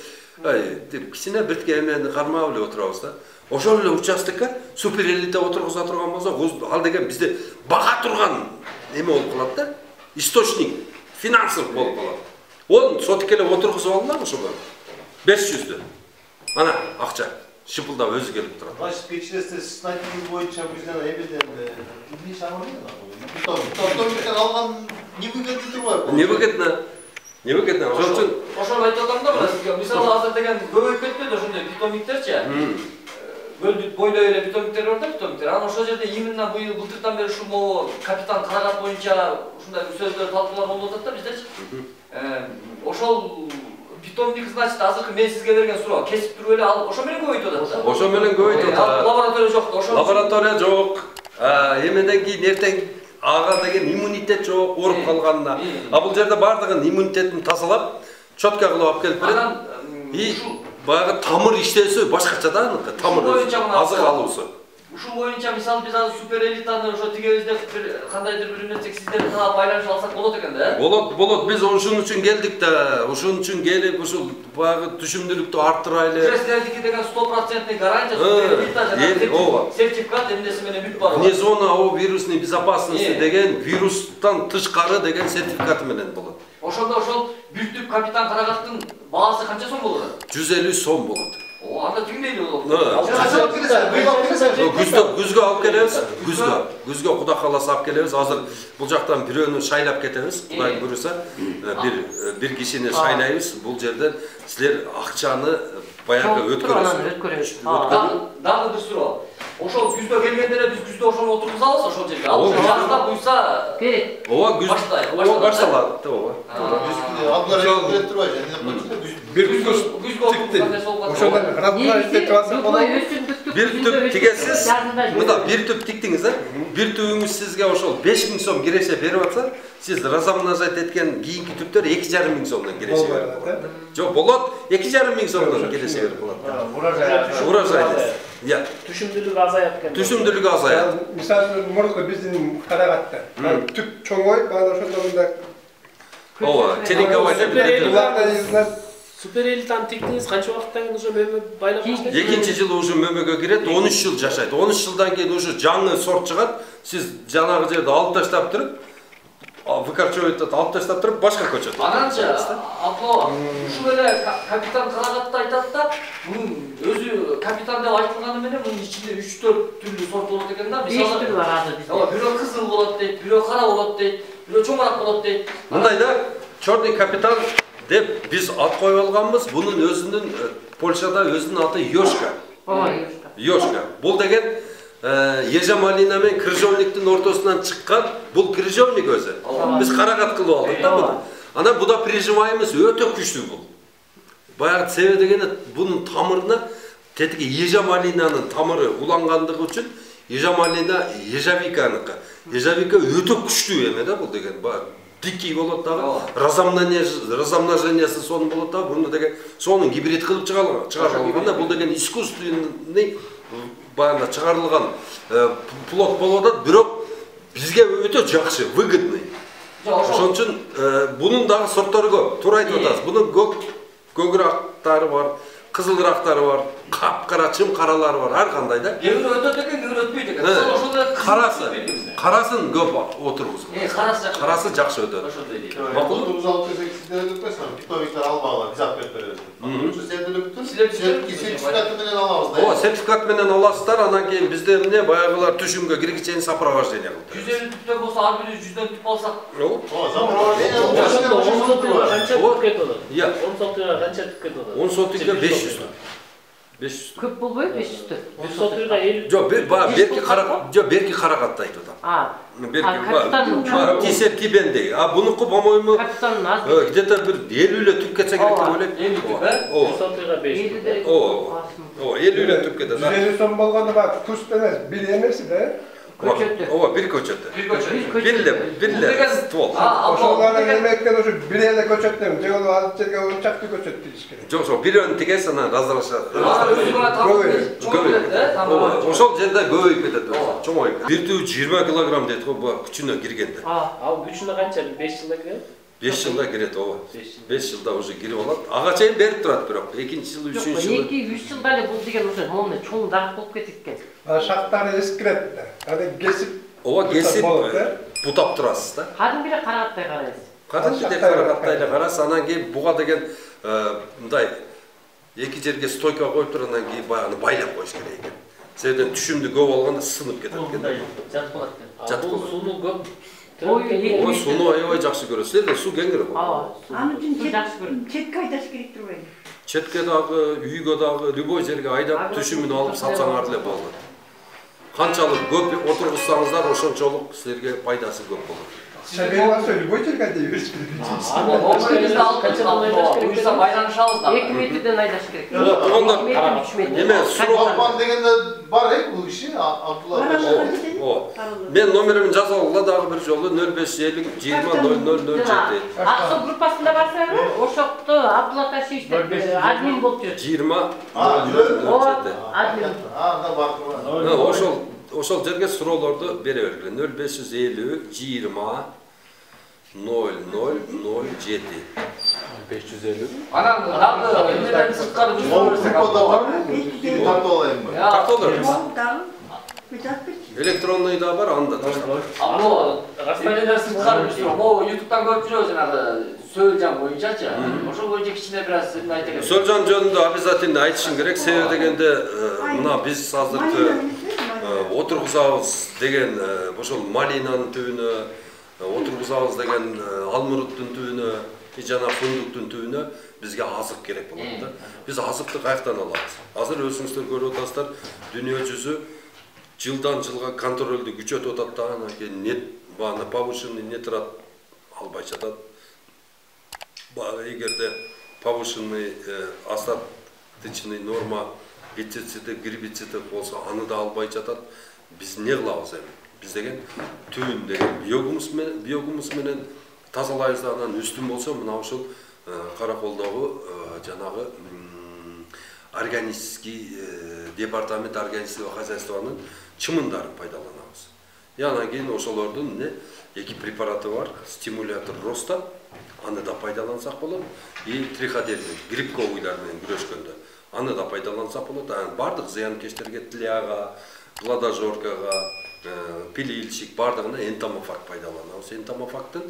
ай, деп кичине биртке эмени кармап эле отурабыз да. Ошол эле участокко супер элита отургуза турган болсо, ал деген бизде бага турган эме болуп калат да. Источник финансов болуп калат. Он сотик эле отургузуп алган ошого. беш жүздө. Ана акча шыпылдап өзү келип турат. Баш текшерсе статистика боюнча бизден эмеден эмне шамалын да. Тотомдон алган не выгодно турбайбы? Не выгодно. Не выгодно. Ошол үчүн ошону айтып атам да, сизге мисалы азыр деген көбөйүп кетпеди ошондой питомниктерчи. Көлдү бойлой эле питомниктер бар да, питомниктер. Анан ошол жерде именно быйыл былтыртан бери ушул могу капитан карагат боюнча ушундай сөздөр талкуулар болуп атат да биздечи. Ошол питомник, значит, азыркы мен сизге берген суроо кесип туруп эле алып ошо менен көбөйтүп атат да. Ошо менен көбөйтүп атат. Лаборатория жок да, ошо. Лаборатория жок. Эмеден кийин эртең ага деген иммунитет жок, ооруп калганына. А бул жерде бардыгын иммунитетин тазалап, четко кылып алып келип берет. И баягы тамыр иштөөсү башкача да, аныкы тамыр азык алуусу. Ушул боюнча мисалы биз азыр супер элитаны ошо тигебизде кандайдыр бир нерсе сиздер менен байланышып алсак болот экен да. Болот, болот. Биз ошон үчүн келдик да. Ошон үчүн келип ушул баягы түшүмдүүлүктү арттырайлы. Сиздердики деген сто процент гарантия супер элита жана сертификат эмнеси менен бүт бар. Вне зона о вирусной безопасности деген вирустан тышкары деген сертификаты менен болот. Ошондо ошол бир түп капитан карагаттын баасы канча сом болот? жүз элүү сом болот. О, анда тигмейли болот. Күзгө, күзгө алып келебиз. Күзгө, күзгө Кудай кааласа алып келебиз. Азыр бул жактан бирөөнү шайлап кетебиз. Кудай буйруса, бир бир кишини шайлайбыз. Бул жерден силер акчаны баягы өткөрөсүз. Дагы бир суроо. Ошол күздө келгенде эле биз күздө ошону отургузабыз ошол жерге. Ал жазда буйса берет. Ооба, күз. Ооба, башталат. Ооба. Bir күз тикти. Ошондон радуга иштетип алсак болот. Бир түп тигесиз, мында бир түп тиктиңиз да. Бир түбүңүз сизге ошол беш миң сом киреше берип атса, сиз разомножать эткен кийинки түптөр эки жарым миң сомдон киреше берип болот. Жок, болот, эки жарым миң сомдон киреше берип болот. Урожай. Урожай. Я. Түшүмдүүлүк азаяп экен. Түшүмдүүлүк азаят. Мисалы мурунку биздин карагатта түп чоңойуп, баана ошондо мындай Ооба, черенковать этип. Супер элитаны тиктиңиз канча убакыттан кийин уже мөмө байлап баштайсыз? Экинчи жылы уже мөмөгө кирет, он үч жыл жашайт. он үч жылдан кийин уже жаңы сорт чыгат. Сиз жанагы жерде алып таштап туруп, выкорчевать алып таштап туруп башка көчөт. Ананча Абдулла ушул эле капитан Карагатты айтат да, мунун өзү капитан деп айтылганы менен мунун ичинде үч төрт түрлүү сорт болот экен да. Мисалы беш түр бар азыр бизде. Ооба, бирөө кызыл болот дейт, бирөө кара болот дейт, бирөө чоңураак болот дейт. Мындай да, черный капитан деп биз ат коюп алганбыз. Бунун өзүнүн Польшада өзүнүн аты Йошка. Ооба, Йошка. Йошка. Бул деген Ежа Малина мен крыжовниктин ортосунан чыккан, бул крыжовник өзү. Биз карагат кылып алдык да буну. Анан буда прижимаемыз өтө күчтүү бул. Баягы себеби дегени бунун тамырына тетиги Ежа Малинанын тамыры улангандыгы үчүн Ежа Малина Ежавиканыкы. Ежавика өтө күчтүү эме да бул деген. Баягы дикий болот дагы, размножениясы сонун болот дагы, буну деген сонун гибрид кылып чыгарылган. Бул деген искусственный баягы чыгарылган плод болот да, бирок бизге өтө жакшы, выгодный. Ошон үчүн бунун дагы сорттору көп. Туура айтып атасыз. Бунун көк көкүрактары бар, кызылырактары бар, капкара чым каралары бар, ар кандай да. Кээ бирөө өтөт экен, кээ бирөө өтпөйт экен. Ошондой карасы, карасын көп отургузган. Э, карасы жакшы. Карасы жакшы өтөт. Ошондой дейт. Макул. Туз алып келсек сиздер өтпөйсүңөр. Питомниктер албагыла, биз алып берип беребиз. Ошо сиздер өтүп, сертификаты менен алабыз да. Ооба, сертификат менен аласыздар, анан кийин бизде эмне баягылар түшүмгө киргичени сопровождение кылып. жүз элүү түптөн болсо ар бири жүздөн түп алсак. Ооба, сопровождение Ошондо он сотыга канча түп кетип атат? Иә. он сотыга канча түп кетип атат? он сотыга беш жүз. беш жүз. Көп болбойбу беш жүз түп? жүз сотыга элүү. Жок, берки карак, жок, берки каракатты айтып атам. А, Берки тисеп тибенде. А бунуку, по-моему, где-то бир элүү эле түп кетсе керек деп ойлойм. элүү түп, э? жүз сотыга беш. Ооба. Ооба, элүү эле түп кетет. жүз элүү сом болгондо бак куст эмес, бир эмес да. Көчөттү. Ооба, бир көчөттү. Бир көчөт. Бир эле, бир эле ствол. Ошолордун эмеккен ушу бир эле көчөттөн, же ол ал жерге ончақты көчөт тийиш керек. Жок, жок, бирөөнү тигесиң анан разрушат. Ошол Ошол жерде көбөйүп кетет, чоңоюп кетет. Бир түп жыйырма килограмм дейт го, бу күчүнө киргенде. Ал күчүнө канча? беш жылда кирет? беш жылда кирет, ооба. беш жылда уже кирип алат. Ага чейин берип турат бирок, экинчи жыл, үчүнчү жыл. эки үч жылда эле бул деген уже момун чоң дарак болуп кетет экен. А шактары эскирет да. Аны кесип Ооба, кесип бутап турасыз да. Кадимки эле карагаттай карайсыз. Кадимки карагаттай эле карасыз, анан кийин буга деген мындай эки жерге стойка коюп туруп, анан кийин баягы байлап коюш керек экен. Себептен түшүмдү көп алганда сынып кетет экен. жат болот экен. Жат Бул болот. сууну көп. Ой, сууну аябай жакшы көрөт. Силерде суу кеңири го. Ооба. Аны үчүн жакшы көрөт. четке айдаш керек турбайбы? Четке дагы, үйгө дагы, любой жерге айдап түшүмүн алып сатсаңар эле болот. Канчалык көп отургузсаңыздар, ошончолук силерге пайдасы көп болот. шабелмасы любой жерге дейбиз. Бизде алып кетип, буюрса байланышабыз да. эки метрден айдаш керек. Онда эки метр, үч метр. Неме, Сурокман дегенде бар э, бул киши, Абдулла. Ооба. Мен номеримди жазып алгыла дагы бир жолу нөл беш элүү жыйырма ноль ноль ноль жети. Аксо группасында барсаңыз, ошокто Абдулла Ташевич деп админ болуп жүрөт. жыйырма А, жүрөт. Ооба, админ. А, анда бар. Ошол ошол жерге суроолорду бере бергиле. нөл беш элүү жыйырма ноль ноль ноль жети. беш жүз элүү. Анан дагы эмнеден сырткары Ол жүрсөңүз приколда барбы? Тартып алайынбы? Тартып алып. Дагы бетап берчи. Электронный да бар, анда таштап. Або, эмнеден сырткары жүрсөң, могу ютубтан көрүп жүрөбүз жанагы сөөлжан боюнчачы. Ошол боюнча кичине бир аз эмне айта кетсең. Сөөлжан жөнүндө обязательно айтышың керек. Себеби дегенде мына биз азыркы отургузабыз деген ошол малинанын түбүнө, отургузабыз деген алмуруттун түбүнө, жана фундуктун түбүнө бизге азык керек болот да. Биз азыкты каяктан алабыз? Азыр өзүңүздөр көрүп атасыздар, дүйнө жүзү жылдан жылга контролду күчөтүп атат да, анан кийин нет бааны повышенный нитрат албай жатат. Баы эгерде повышенный остаточный норма пестициди, гербициди болсо, аны да албай жатат. Биз не кылабыз эми? Биз деген түбүн деген биогумус менен, биогумус менен тазалайбыз да, анан үстүн болсо мына ушул Караколдогу жанагы органический департамент органического хозяйствонун чымындарын пайдаланабыз. И анан кийин ошолордун эмне эки препараты бар, стимулятор роста, аны да пайдалансак болот. И триходермин, грибковыйлар менен күрөшкөндө аны да пайдалансак болот. Анан бардык зыянкечтерге, тляга, плодожоркага, пилильщик бардыгына энтомофаг пайдаланабыз. Энтомофагдын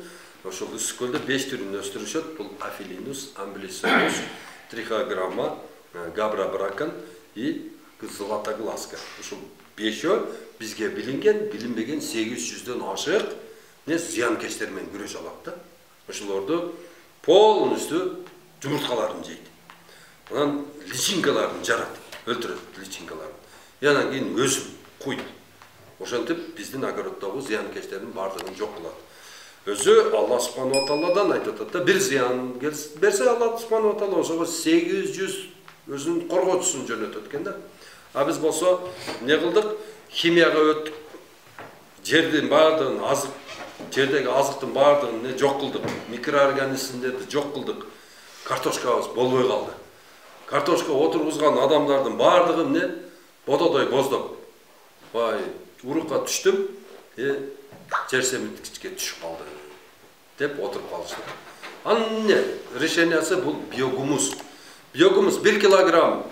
ошол ысык көлдө беш түрүн өстүрүшөт. Бул афилинус, амблисонус, трихограмма, габрабракан и златоглазка. Ушул бешөө бизге билинген, билинбеген сегиз жүздөн ашык не зыянкечтер менен күрөшө алат да. Ошолорду полностью жумурткаларын жейт. Анан личинкаларын жарат, өлтүрөт личинкаларын. И анан кийин өсүп куйт. Ошентип биздин огороддогу зыянкечтердин бардыгын жок кылат. Өзү Алла субханаху ва тааладан айтып атат да, бир зыян берсе Алла субханаху ва таала ошого сегиз жүз өзүнүн коргоочусун жөнөтөт экен да. А биз болсо эмне кылдык? Химияга өттүк. Жердин бардыгын азык, жердеги азыктын бардыгын не жок кылдык. Микроорганизмдерди жок кылдык. Картошкабыз болбой калды. Картошка отургузган адамдардын бардыгы эмне? Бододой боздоп. Бай, урукка түштүм, э жер семирткичке түшүп калды деп отуруп калышты. Анын эмне? Решениясы бул биогумус. Биогумус бир килограмм,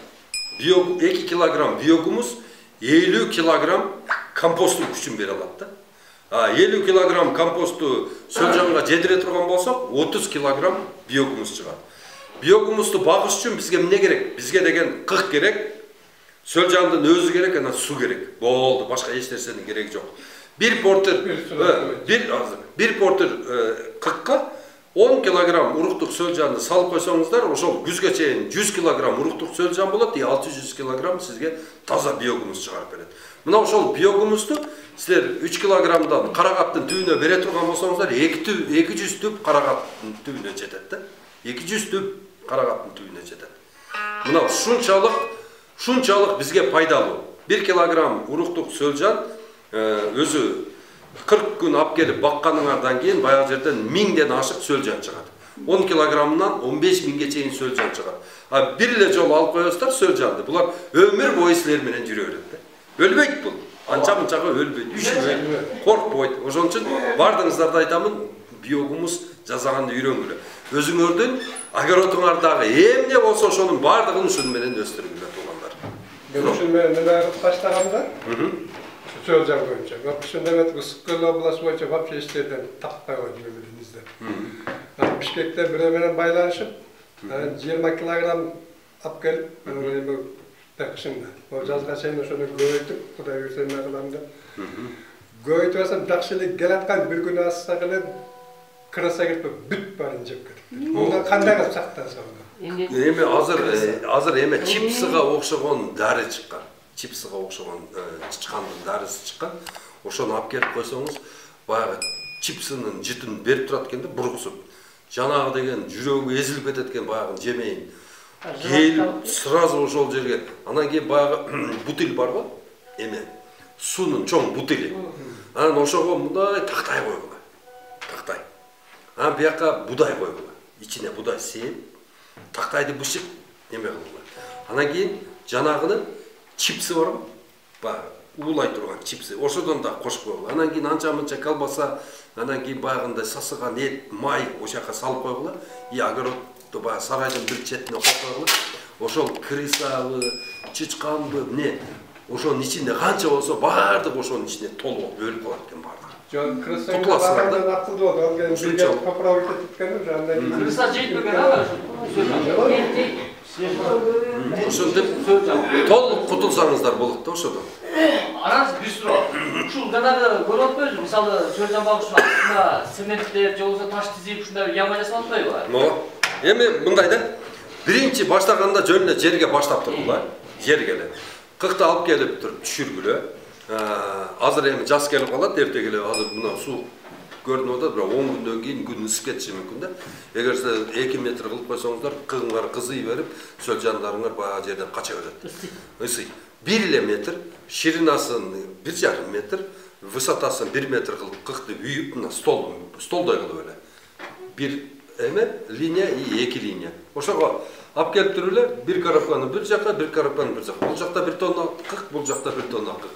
эки килограмм биогумус элүү килограмм компосттун күчүн бере алат да. А элүү килограмм компосту сөлжанга жедире турган болсок, отуз килограмм биогумус чыгат. Биогумусту багыш үчүн бизге эмне керек? Бизге деген кык керек, сөлжандын өзү керек, анан су керек. Болду, башка эч нерсенин кереги жок. Бир портер, бир азыр, бир портер кыкка он килограмм уруктук сөлжанды салып койсоңуздар, ошол күзгө чейин жүз килограмм уруктук сөлжан болот, и алты жүз килограмм сизге таза биогумус чыгарып берет. Мына ошол биогумусту силер үч килограммдан карагаттын түбүнө бере турган болсоңуздар, эки жүз түп карагаттын түбүнө жетет да. эки жүз түп карагаттын түбүнө жетет. Мына ушунчалык, ушунчалык бизге пайдалуу. бир килограмм уруктук сөлжан өзү кырк күн алып келип бакканыңардан кийин баягы жерден миңден ашык сөлжан чыгат. он килограммдан он беш миңге чейин сөлжан чыгат. А бир эле жолу алып коесуздар сөлжанды. Булар өмүр бою силер менен жүрө берет да. Өлбөйт бул. Анча-мынчага өлбөйт, үшүбөйт, коркпойт. Ошон үчүн бардыгыңыздарды айтамын, биогумус жасаганды үйрөнгүлө. Өзүңөрдүн огородуңардагы эмне болсо ошонун бардыгын ушун менен өстүрүңүлөр туугандар. Мен ушун менен эмне баштаганда, сөлжан боюнча. Ошондо эмет ысык көл областы боюнча вообще эч жерден таппай койдум эмеденизде. Бишкекте бирөө менен байланышып, жыйырма килограмм алып келип, мен такшында. Ол жазга чейин ошону көбөйтүп, Кудай буйрса эмне кылам деп. Көбөйтүп алсам жакшы эле келаткан бир күн ассак эле краса кирип бүт баарын жеп кетип. Мындан кандай кылып сактансам? Эми азыр азыр эме чипсыга окшогон дары чыккан. Чипсыга окшогон чычкандын дарысы чыккан. Ошону алып келип койсоңуз, баягы чипсынын жытын берип турат экен да, бургусуп. Жанагы деген жүрөгү эзилип кетет экен баягы жемейин. Келип сразу ошол жерге, анан кийин баягы бутыль бар го, эме суунун чоң бутыли. Анан ошого мындай тактай койгула. Тактай. Анан бияка будай койгула. Ичине будай сееп, тактайды бышык неме кылгыла. Анан кийин жанагыны чипсы бар го, баягы уулай турган чипсы. Ошодон да кошуп койгула. Анан кийин анча-мынча колбаса, анан кийин баягындай сасыган эт, май ошака салып койгула. И огородду баягы сарайдын бир четине коюп койгула. Ошол крысабы, чычканбы, эмне, ошонун ичинде канча болсо баардык ошонун ичине толуп өлүп калат экен баардыгы. Жон крысаны барганда акылды болду. Ал келип бирге поправить этип кеткен жандай. Крыса жейтпеген ага. Ошондеп толук кутулсаңыздар болот да ошодон. Анан бир суроо. Ушул жанагы көрүп атпайбызбы? Мисалы сөлжан багышынын астына цементтеп, же болбосо таш тизип ушундай яма жасап атпайбы? Мо. Эми мындай да. Биринчи баштаганда жөн эле жерге баштап тургула. Жерге эле. Кыкты алып келип туруп түшүргүлө. Азыр эми жаз келип калат, эртеге эле азыр мына суу көрүнүп атат, бирок он күндөн кийин күн ысып кетиши мүмкүн да. Эгер сиз эки метр кылып койсоңуздар, кыгыңар кызый берип, сөлжандарыңар баягы жерден кача берет. Ысый. бир эле метр, ширинасын бир жарым метр, высотасын бир метр кылып кыкты үйүп, мына стол, столдой кылып эле. Бир эме линия и эки линия. Ошого алып келип туруп эле, бир коробканы бир жака, бир коробканы бир жака. Бул жакта бир тонна кык, бул жакта бир тонна кык.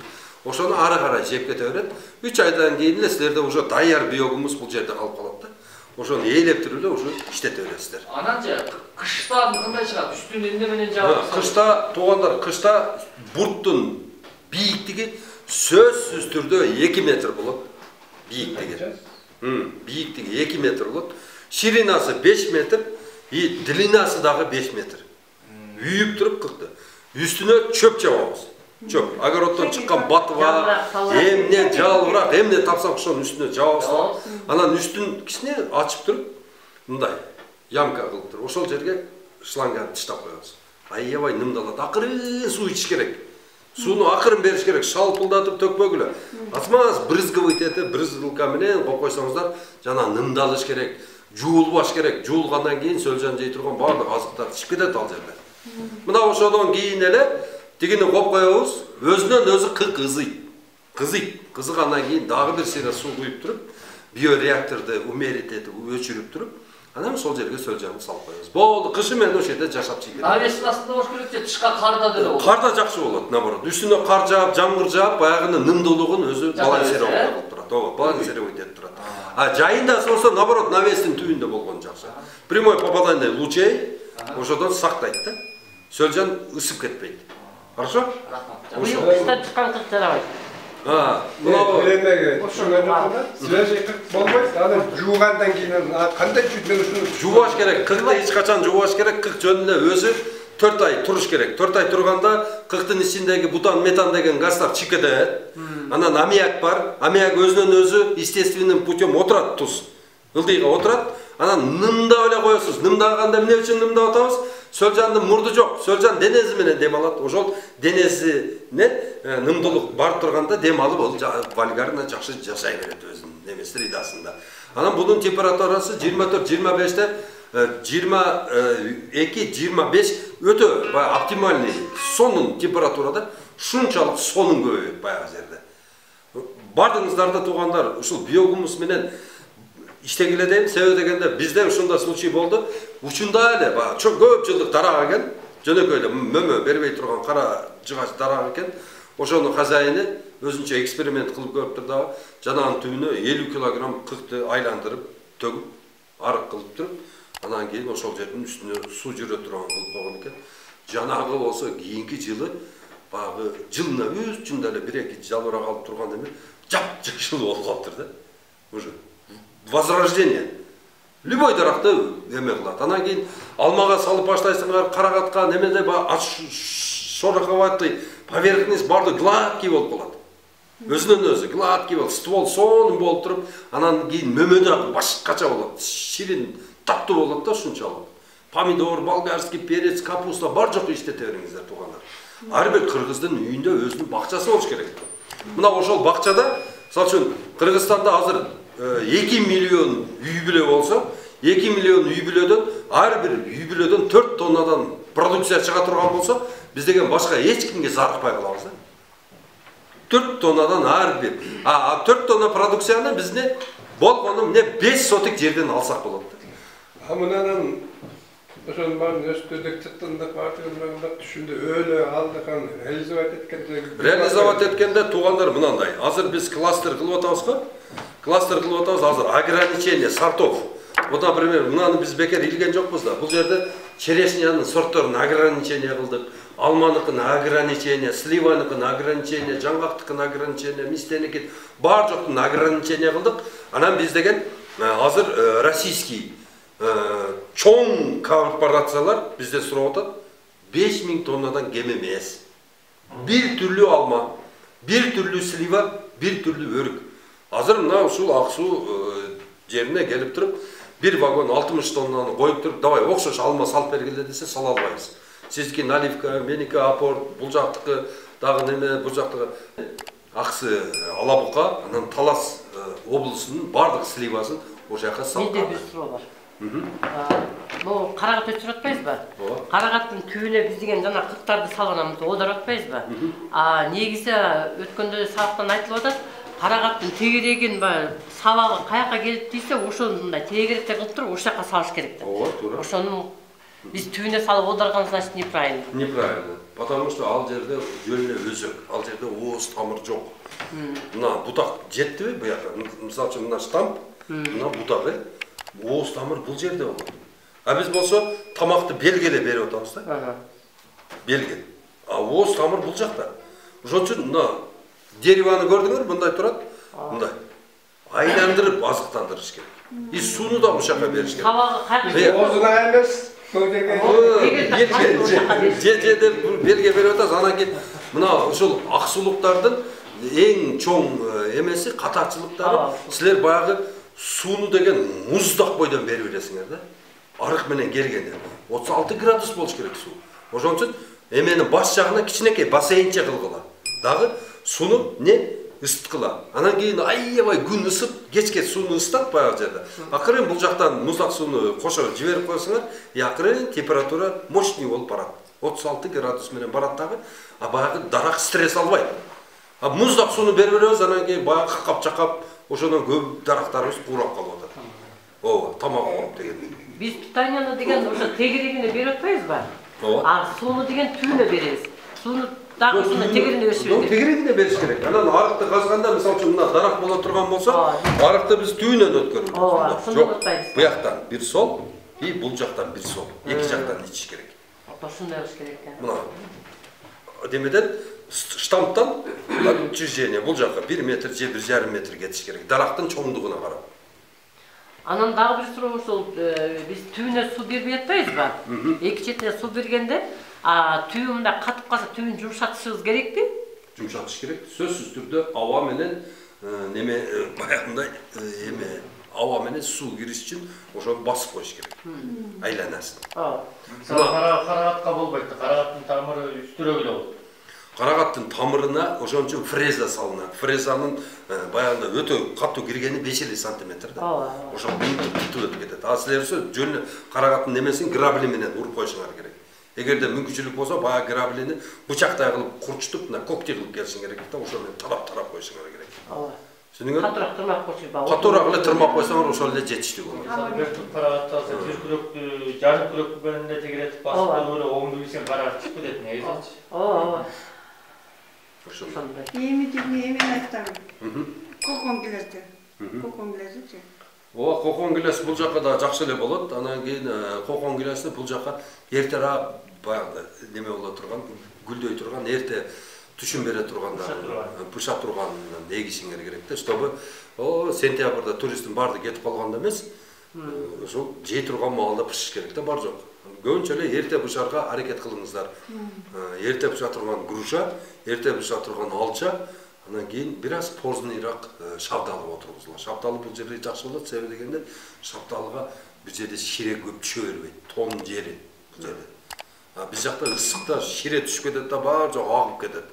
Ошону ары карай жеп кете берет. үч айдан кийин эле силерде уже даяр биогумус бул жерде калып калат да. Ошону ээлеп туруп эле уже иштете бересиздер. Ананча кышта кандай чыгат? Үстүн эмне менен жаап? Кышта туугандар, кышта бурттун бийиктиги сөзсүз түрдө эки метр болот бийиктиги. Бийиктиги эки метр болот. Ширинасы беш метр, и длинасы дагы беш метр. Үйүп туруп кыкты. Үстүнө чөп жабабыз. Чөп. Огороддон чыккан батыва, эмне жалбырак, эмне тапсак ошонун үстүнө жабабыз. Анан үстүн кичине ачып туруп, мындай ямка кылып туруп, ошол жерге шланганы таштап коебуз. Аябай нымдалат. Акырын суу ичиш керек. Сууну акырын бериш керек, шалпылдатып төкпөгүлө. Азмаз брызгивать этип, брызгылка менен коюп койсоңуздар, жана нымдалыш керек, жуулбаш керек. Жуулгандан кийин сөлжан жей турган баардык азыктар чыгып кетет ал жерде. Мына ошодон кийин эле тигини коюп коебуз, өзүнөн өзү кык ызыйт. Кызыйт. Кызыгандан кийин дагы бир сыйра суу куюп туруп, биореакторду умерить этип, өчүрүп туруп, анан сол жерге сөлжанды салып коебуз. Болду, кышы менен ошол жерде жашап чыгып кетет. Навестин астында болуш керек же тышка карда деле болот. Карда жакшы болот, наоборот. Үстүнө кар жаап, жамгыр жаап, баягынын нымдуулугун өзү балансировать кылып турат. Ооба, балансировать этип турат. А жайында болсо, наоборот, навестин түбүндө болгон жакшы. Прямой попадание лучей ошодон сактайт да. Сөлжан ысып кетпейт. Хорошо? Быйыл кыштан чыккан кык жарабайт. А, мына Эмеге түшүнгөн жокмун? Свежий кык болбойт. Аны жуугандан кийин кандай жүйдөн жуубаш керек. Кыкты эч качан жуубаш керек. Кык жөнүнө өзү төрт ай туруш керек. төрт ай турганда кыктын ичиндеги бутан, метан деген газдар чыгып кетет. Анан аммиак бар. Аммиак өзүнөн өзү естественным путем отурат, туз. Ылдыйга отурат. Анан нымдап эле коесуз. Нымдаганда эмне үчүн нымдап атабыз? Сөлжандын мурду жок. Сөлжан денеси менен дем алат. Ошол денесине нымдуулук бар турганда дем алып, ал вульгарно жакшы жашай берет өзүнүн немеси средасында. Анан бунун температурасы жыйырма төрт жыйырма беште жыйырма эки жыйырма беш өтө оптимальный сонун температурада, шунчалык сонун көбөйөт баягы жерде. Бардыгыңыздарда туугандар ушул биогумус менен иштегиле дейм. Себеби дегенде бизде ушундай случай болду. Учунда эле баягы чоң көп жылдык дарак экен, жөнөкөй эле мөмө бербей турган кара жыгач дарак экен. Ошонун хозяйыны өзүнчө эксперимент кылып көрүптүр дагы. Жанагынын түбүнө элүү килограмм кыкты айландырып, төгүп, арык кылып туруп, анан кийин ошол жердин үстүнө суу жүрө турган кылып койгон экен. Жанагы болсо кийинки жылы баягы жылына үч жүндө эле бир эки жалбырак алып турган эме жап-жашыл болуп калыптыр да. Уже возрождение. Любой даракты эме кылат. Анан кийин алмага салып баштайсыңар, карагатка, немеде баягы шороховатый поверхность барды гладкий болуп калат. Өзүнөн өзү гладкий болуп, ствол сонун болуп туруп, анан кийин мөмөдө башкача болот. Ширин, таттуу болот да ушунчалык. Помидор, болгарский перец, капуста бар жок иштете бериңиздер туугандар. Ар бир кыргыздын үйүндө өзүнүн бакчасы болуш керек. Мына ошол бакчада, мисалы үчүн Кыргызстанда азыр эки миллион үй бүлө болсо, эки миллион үй бүлөдөн ар бир үй бүлөдөн төрт тоннадан продукция чыга турган болсо, биз деген башка эч кимге зарыкпай калабыз да. төрт тоннадан ар бир. А төрт тонна продукцияны бизне болгону эмне беш сотик жерден алсак болот. А мынанын ошонун баарын өстөдүк чыктындык баардыгын түшүндү өлө алдыкан реализовать эткенде реализовать эткенде туугандар мынандай. Азыр биз кластер кылып атабыз го. Кластер кылып атабыз азыр ограничение сортов. Вот, например, мынаны биз бекер илген жокпуз да. Бул жерде черешнянын сортторун ограничение кылдык. Алманыкын ограничение, сливаныкын ограничение, жаңгактыкын ограничение, мистеники бар жоктун ограничение кылдык. Анан биз деген азыр российский чоң корпорациялар бизде сурап атат, беш миң тоннадан кем эмес. Бир түрлүү алма, бир түрлүү слива, бир түрлүү өрүк. Азыр мына ушул Ак Суу жерине келип туруп, бир вагон алтымыш тоннаны коюп туруп, давай окшош алма салып бергиле десе сала албайбыз. Сиздики наливка, меники апорт, бул жактыкы дагы неме, бул жактыкы Аксы Алабука, анан Талас облусунун бардык сливасын ошол жака салып. Менде бир суроо бар. Бул карагат өчүрүп атпайсызбы? Карагаттын түбүнө биз деген жана кыктарды салганбыз, оодарып атпайсызбы? А негизи өткөндө сабактан айтылып атат, карагаттын тегерегин баягы сабагы каяка келип тийсе, ошондой тегеректе кылып туруп ошол жака салыш керек да. Ооба, туура. Ошону биз түбүнө салып оодарган, значит, неправильно. Неправильно. Потому что ал жерде жөнүнө өзөк, ал жерде ооз тамыр жок. Мына бутак жеттиби буяка? Мисалы үчүн мына штамп, мына бутак э. Ооз тамыр бул жерде болот. А биз болсо тамакты белгеле берип атабыз да. Белге. А ооз тамыр бул жакта. Ошон үчүн мына Дереваны көрдүңөр, мындай турат. Мындай. Айландырып азыктандырыш керек. И сууну да ушака бериш керек. Табагы кайгы. Озуна эмес. Көйдеге. Же же белге берип атасыз. Анан кийин мына ушул аксулуктардын эң чоң эмеси катачылыктары. Силер баягы сууну деген муздак бойдон берип бересиңер да. Арык менен келгенде отуз алты градус болуш керек суу. Ошон үчүн эменин баш жагына кичинекей бассейнче кылгыла. Дагы сууну не ысыткыла. Анан кийин аябай күн ысып, кечке сууну ысытат баягы жерде. Акырын бул жактан муздак сууну кошо жиберип койсоңор, акырын температура мощный болуп барат. отуз алты градус менен барат дагы, а баягы дарак стресс албайт. А муздак сууну берип беребиз, анан кийин баягы какап-чакап, ошондон көп дарактарыбыз курап калып атат. Ооба, тамак кооп деген. Биз питанияны деген ошо тегерегине берип атпайбызбы? Ооба. А сууну деген түйүнө беребиз. Сууну дагы ушундай тегерине бериш керек. Тегерегине бериш керек. Анан арыкты казганда, мисалы үчүн мына дарак боло турган болсо, арыкты биз түйүнөн өткөрүбүз. Ооба, Жок, буяктан бир сол, и бул жактан бир сол. Эки жактан ичиш керек. Ошондой болуш керек экен. Мына демеден штамптан учреждение бул жакка бир метр же бир жарым метр кетиш керек. Дарактын чоңдугуна карап. Анан дагы бир суроо ушул биз түйүнө суу бербей атпайбызбы? Эки четине суу бергенде, а түйү мындай катып калса түйүн жумшатышыбыз керекпи? Жумшатыш керек. Сөзсүз түрдө аба менен неме баягындай эме аба менен суу кириш үчүн ошону басып коюш керек. Айланасын. Ооба. Карагатка болбойт. Карагаттын тамыры үстүрөөк эле болот. Карагаттын тамырына ошон үчүн фреза салынат. Фрезанын баягында өтө катуу киргени беш элүү сантиметр да. Ошол бүтүп өтүп кетет. А силер жөн карагаттын немесин грабли менен уруп коюшуңар керек. Эгерде мүмкүнчүлүк болсо, баягы граблини бычактай кылып курчутуп, мына когтей кылып келишиң керек да, ошо менен тарап-тарап коюшуңар керек. Ооба. Түшүнүңөр? Катуураак тырмак коюшуп, Катуураак эле тырмак койсоңор, ошол эле жетиштүү болот. Бир туп карагатты алса, бир күрөктү жарым күрөк бөлүндө тегеретип басып көрө, оңду билсең карагат чыгып кетет негизи. Ооба. Ошондой. Эми тиги эми айтам. Кокон келет. Кокон келет. Ооба, кокон гилес бул жакка да жакшы эле болот. Анан кийин кокон гилести бул жакка эртерээк баягы неме боло турган, гүлдөй турган, эрте түшүм бере тургандарын, быша турганын эгишиңер керек да, чтобы о сентябрда туристтин баары кетип калганда эмес, ошол жей турган маалда бышыш керек да, бар жок. Көбүнчө эле эрте бышарга аракет кылыңыздар. Эрте быша турган груша, эрте быша турган алча, анан кийин бир аз поздныйраак шабдалы отургузулат. Шабдалы бул жерде жакшы болот, себеби дегенде шабдалыга бир жерде шире көп түшө бербейт, тон жери бул жерде. Биз жакта ысыкта шире түшүп кетет да, бар жок агып кетет.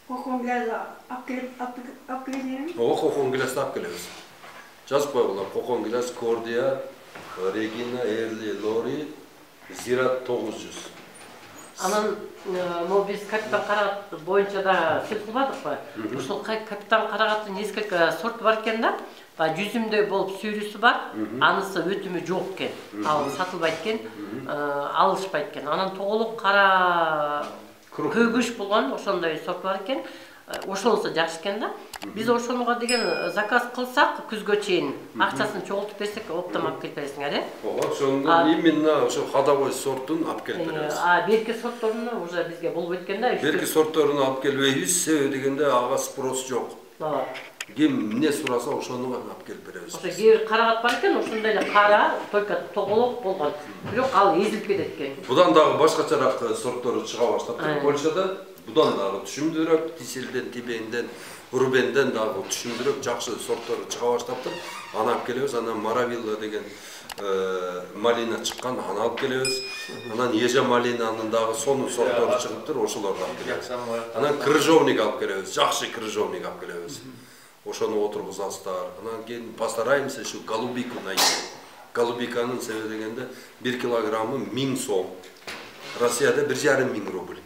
Кокон келет, ап келип, ап келесиңерби? Ооба, кокон гилести алып келебиз. Жазып койгула, кокон гилес, Кордия, Регина, Эрли, Лори, Зират тогуз жүз. Анан могу биз капитан карагат боюнча да сөз кылбадыкпы? Ушул капитан карагаттын несколько сорт бар экен да. Жүзүмдөй болуп сүйрүсү бар, анысы өтүмү жок экен. Ал сатылбайт экен, алышпайт экен. Анан тоголук кара көгүш болгон ошондой сорт бар экен. Ошонусу жакшы экен да. Биз ошонуга деген заказ кылсак күзгө чейин акчасын чогултуп берсек, оптом алып келип бересиңер, э? Ооба, ошондон именно ошо ходовой сортун алып келип беребиз. А берки сортторуну уже бизге болбойт экен да. Берки сортторуну алып келбейбиз, себеби дегенде ага спрос жок. Ооба. Ким эмне сураса ошону алып келип беребиз. Ошо кээ карагат бар экен, ошондой эле кара, только тоголок болгон. Бирок ал эзилип кетет экен. Будан дагы башкачараак сорттору чыга баштапты. Польшада будан дагы түшүмдүүрөөк, Тиселден, Тибенден, Рубенден дагы түшүмдүүрөөк жакшы сорттору чыга баштапты. Аны алып келебиз, анан Маравилла деген малина чыккан, аны алып келебиз. Анан Ежа малинанын дагы сонун сорттору чыгыптыр, ошолорду алып келебиз. Анан крыжовник алып келебиз, жакшы крыжовник алып келебиз. Ошону отургузасыздар. Анан кийин постараемся ушу голубику найти. Голубиканын себеби дегенде бир килограммы миң сом. Россияда бир жарым миң рубль.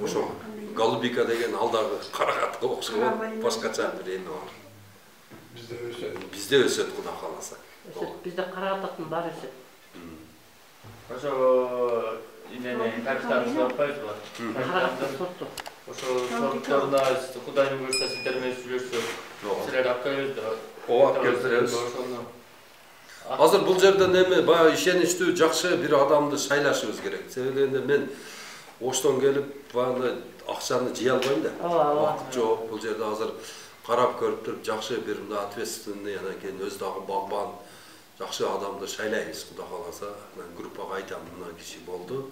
Ошо голубика деген алдагы карагатка окшогон башкача бир эми бар. Бизде өсөт. Бизде өсөт, Кудай кааласа. Өсөт, бизде карагаттын баары өсөт. Ошо инени капитан сорпайбызбы? Карагаттын сорту. Ошо сортторуна Кудайдын буйруса сиздер менен сүйлөшсөк, силер алып келебиз да. Ооба, алып келебиз. Азыр бул жерден эми баягы ишеничтүү, жакшы бир адамды шайлашыбыз керек. Себеби дегенде мен Оштон келип баягы акчаны жый албайм да. Убакыт жок. Бул жерде азыр карап көрүп туруп жакшы бир мындай ответственный анан кийин өз дагы багбан жакшы адамды шайлайбыз, Кудай кааласа. Мен группага айтам, мына киши болду.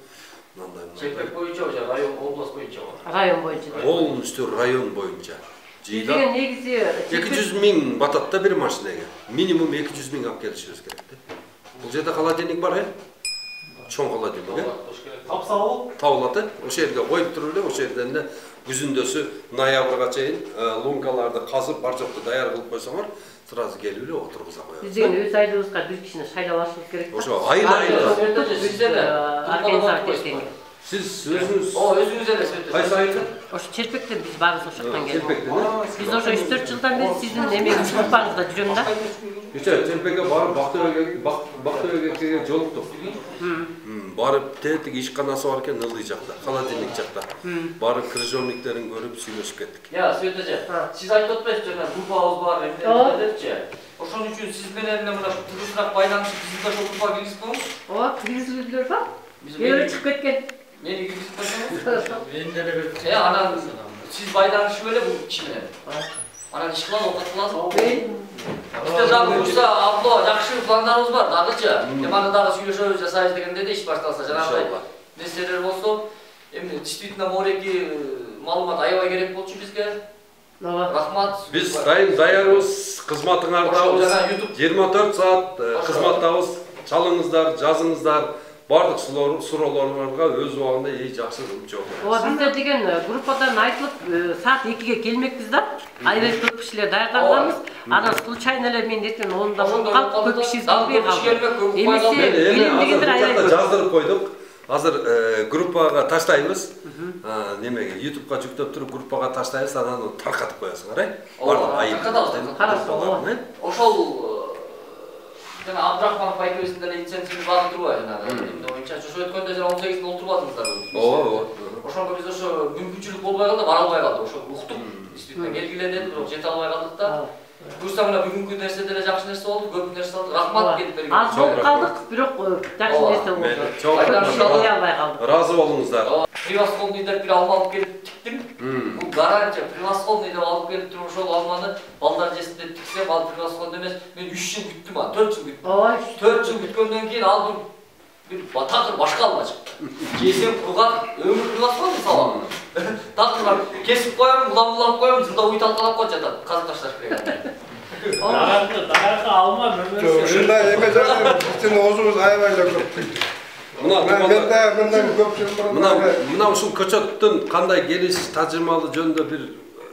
Мындай мындай. Чекпек боюнча же район, область боюнча? Район боюнча. Полностью район боюнча. Деген негизи эки жүз миң батат да бир машинага. Минимум эки жүз миң алып келишибиз керек да. Бул жерде холодильник бар, э? Чоң холодильник, э? Тапсабыл? Табылат, э? Ошол жерге коюп туруп эле, ошол жерден эле күзүндөсү ноябрга чейин лункаларды казып, бар жокту даяр кылып койсоңор, сразу келип эле отургуза коебуз. Биз деген өз айылыбызга бир кишини шайлап алышыбыз керек. Ошо айыл-айыл. Сиз эле организация. Сиз өзүңүз О, өзүңүз эле сөйттү. кайсы айылда? Ошо Черпектен биз баарыбыз ошол жактан келдик. Черпектен. Биз ошо үч төрт жылдан бери сиздин эмеңиз группаңызда жүрөм да. Кече Черпекке барып Бактөбөгө Бактөбөгө жолуктук. Барып тетик ишканасы бар экен, ылдый жакта, холодильник жакта. Барып крыжовниктерин көрүп сүйлөшүп кеттик. Я, Света эже, сиз айтып атпайсызбы жана группабыз бар, эмне депчи? Ошон үчүн сиз менен мына тыгызыраак байланышып, сиз да ошол группага киргизип коюңуз. Ооба, киргизилдер ба? Эээ чыгып кеткен. Мени киргизип койсоңуз. Мен деле Э, анан сиз байланышып эле бул киши менен. Анан иш кылалы, оокат кыласыз. Бизде дагы буюрса, Абдулла, жакшы пландарыбыз бар, дагычы. Эми аны дагы сүйлөшөбүз, жасайбыз дегенде да иш башталса, жанагындай нерселер болсо, эми действительно мореки маалымат аябай керек болчу бизге. Ооба. Рахмат. Биз дайым даярбыз, кызматыңардабыз. жыйырма төрт саат кызматтабыз. Чалыңыздар, жазыңыздар. Бардык суроолорго өз убагында эй жакшы жооп беребиз. Ооба, бизде деген группадан айтылып саат экиге келмекпиз да. Аябай көп кишилер даярданганбыз. Анан случайно эле мен эртең онда болуп калып, көп киши келбей калды. Эмесе билем дегендер аябай жаздырып койдук. Азыр группага таштайбыз. Немеге YouTubeга жүктөп туруп группага таштайбыз, анан таркатып коесуңар, э? Бардык айып. Таркатабыз. Ошол жана Абдрахманов айкебиздин деле инициативасы бар турбайбы жанагы эмне боюнча. Ошо өткөндө жана он сегизинде олтурбадыңыздарбы? Ооба, ооба. Ошонго биз ошо мүмкүнчүлүк болбой калды, бара албай калдык. Ошо уктук. Действительно келгиле деди, бирок жете албай калдык да. Буюрса мына бүгүнкү нерсе деле жакшы нерсе болду, көп нерсе болду. Рахмат келип берген. Аз болуп калдык, бирок жакшы нерсе болду. Чоң албай калдык. Разы болуңуздар. Превосходный деп бир алма алып келип тиктим. Бул гарантия превосходный деп алып келип туруп ошол алманы балдар жесин деп тиксем, ал превосходный эмес. Мен үч жыл күттүм, а төрт жыл күттүм. Ооба. төрт жыл күткөндөн кийин ал бир такыр башка алма чыкты. Жесем кургак, өмүр превосходный салам. Такыр кесип коем, улам-улам коем, жылда уй талкалап коюп жатат. Казып ташташ керек. Даракты, даракты алма мөмөсү. Ушундай эме жагы биздин оозубуз аябай эле көп. Мына мен да мындай көп жыл мурун мына мына ушул көчөттүн кандай келиш тажырмалуу жөнүндө бир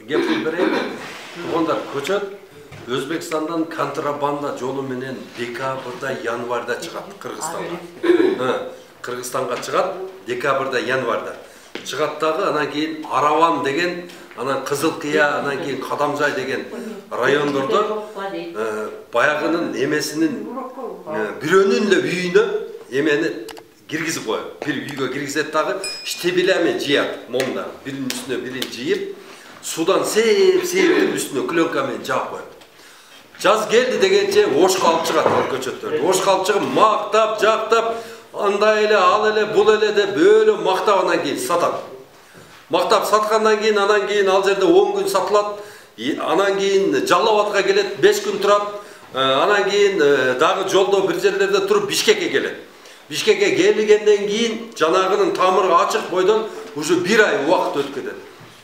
кеп берейин. Туугандар, көчөт Өзбекстандан контрабанда жолу менен декабрда, январда чыгат Кыргызстанга. Кыргызстанга чыгат декабрда, январда. Чыгат дагы, анан кийин Араван деген, анан Кызыл Кыя, анан кийин Кадамжай деген райондордо баягынын эмесинин бирөөнүн эле үйүнө эмени киргизип коет. Бир үйгө киргизет дагы, штебелями жыят, момда биринин үстүнө бирин жыйып, судан сеп-септип үстүнө клёнкамен жаап коет. Жаз келди дегенче ошко алып чыгат көчөттөрдү. Ошко алып чыгып мактап, жактап, андай эле, ал эле, бул эле деп өлө мактап анан кийин сатат. Мактап саткандан кийин анан кийин ал жерде он күн сатылат. Анан кийин Жалал Абадка келет, беш күн турат. Анан кийин дагы жолдо бир жерлерде туруп Бишкекке келет. Бишкекке келгенден кийин жанагынын тамыры ачык бойдон уже бир ай убакыт өтүп кетет.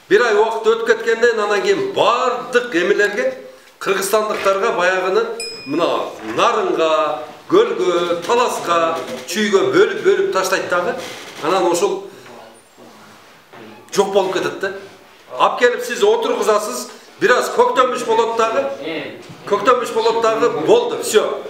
Бир ай убакыт өтүп кеткенден анан кийин бардык эмелерге кыргызстандыктарга баягыны мына нарынга, көлгө, таласка, чүйгө бөлүп-бөлүп таштайт дагы. Анан ошол жок болуп кетет да. Ап келип сиз отургузасыз, бир аз көктөмүш болот дагы. Көктөмүш болот дагы, болду, всё.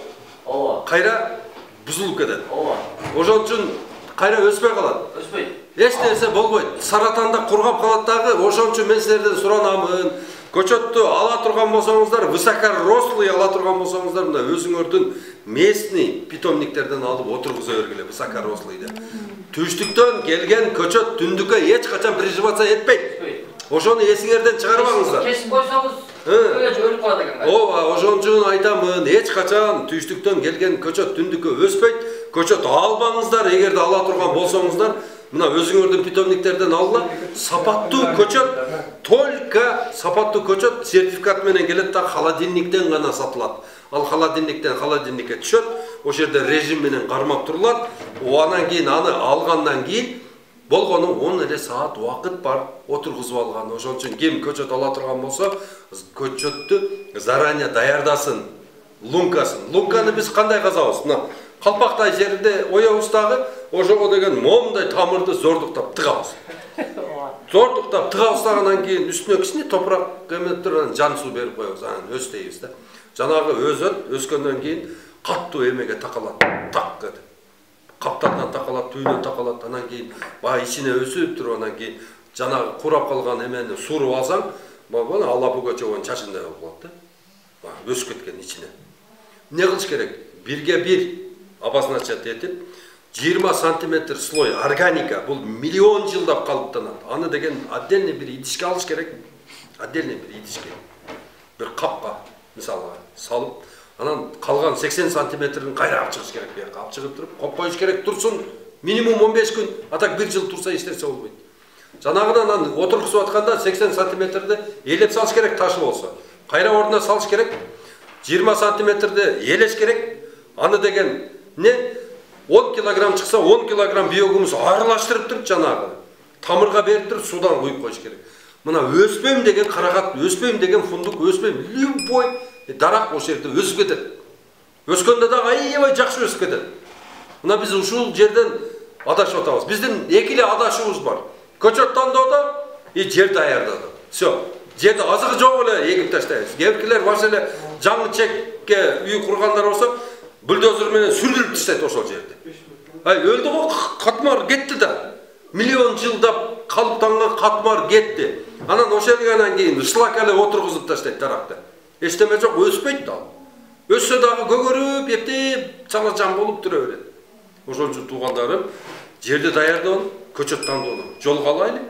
Ооба. Кайра бузулуп кетет. Ооба. Ошон үчүн кайра өспөй калат. Өспөйт. Эч нерсе болбойт. Саратанда кургап калат дагы. Ошон үчүн мен силерден суранамын. Көчөттү ала турган болсоңуздар, высокорослый ала турган болсоңуздар, мына өзүңөрдүн местный питомниктерден алып отургуза бергиле, высокорослый деп. Түштүктөн келген көчөт түндүккө эч качан приживаться этпейт. Ошону эсиңерден чыгарбаңыздар. Кесип койсоңуз, өлүп калат экен. Ооба, ошон үчүн айтамын, эч качан түштүктөн келген көчөт түндүккө өспөйт, көчөт албаңыздар, эгерде ала турган болсоңуздар, мына өзүңөрдүн питомниктерден алла, сапаттуу көчөт, только сапаттуу көчөт сертификат менен келет да холодильниктен гана сатылат. Ал холодильниктен холодильникке түшөт, ошол жерде режим менен кармап турулат. Анан кийин аны алгандан кийин болгону он эле саат убакыт бар отургузуп алган. Ошон үчүн ким көчөт ала турган болсо, көчөттү заранее даярдасын, лункасын. Лунканы биз кандай казабыз? Мына калпактай жеринде оябыз дагы, ошого деген момундай тамырды зордуктап тыгабыз. Зордуктап тыгабыздагандан кийин үстүнө кичине топурак эмеп туруп жан суу берип коебуз, анан өстөйбүз да. Жанагы өзөт өскөндөн кийин каттуу эмеге такалат, так деп. Каптардан такалат, түйүнөн такалат, анан кийин баягы ичине өсүп туруп, анан кийин жанагы курап калган эмени суруп алсаң, бана алапуга чогон чачындай болуп калат да. Өсүп кеткен ичине. Эмне кылыш керек? Бирге бир обозначать этип, жыйырма сантиметр слой органика, бул миллион жылдап калыптанат. Аны деген отдельный бир идишке алыш керек. Отдельный бир идишке. Бир капка мисалы салып, анан калган сексен сантиметрин кайра алып чыгыш керек. Бияка алып чыгып туруп, коюп коюш керек, турсун. Минимум он беш күн, а так бир жыл турса эчнерсе болбойт. Жанагыдан анан отургузуп атканда сексен сантиметрди элеп салыш керек, ташы болсо. Кайра ордуна салыш керек. жыйырма сантиметрди элеш керек. Аны деген не? он килограмм чыкса он килограмм биогумус аралаштырып туруп жанагы тамырга берип туруп судан куюп коюш керек. Мына өспөйм деген карагат, өспөйм деген фундук, өспөйм любой дарак ошол жерде өсүп кетет. Өскөндө дагы аябай жакшы өсүп кетет. Мына биз ушул жерден адашып атабыз. Биздин эки эле адашыбыз бар. Көчөт тандоодо и жер даярдоодо. Всё. Жерде азыгы жок эле эгип таштайбыз. Кээбиркилер баш эле жаңы чекке үй кургандар болсо, бульдозер менен сүрдүрүп таштайт ошол жерди. Ай, өлдү го, катмар кетти да. Миллион жылдап калыптанган катмар кетти. Анан ошолгандан кийин шлак эле отургузуп таштайт даракты. Эчтеме жок, өспөйт да. Өссө дагы көгөрүп, эптеп, чала жан болуп тура берет. Ошон үчүн туугандарым, жерди даярдоону, көчөт тандоону жолго алайлы.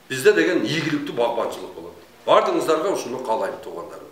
Бизде деген ийгиликтүү багбанчылык болот. Бардыгыңыздарга ушуну каалайм туугандарым.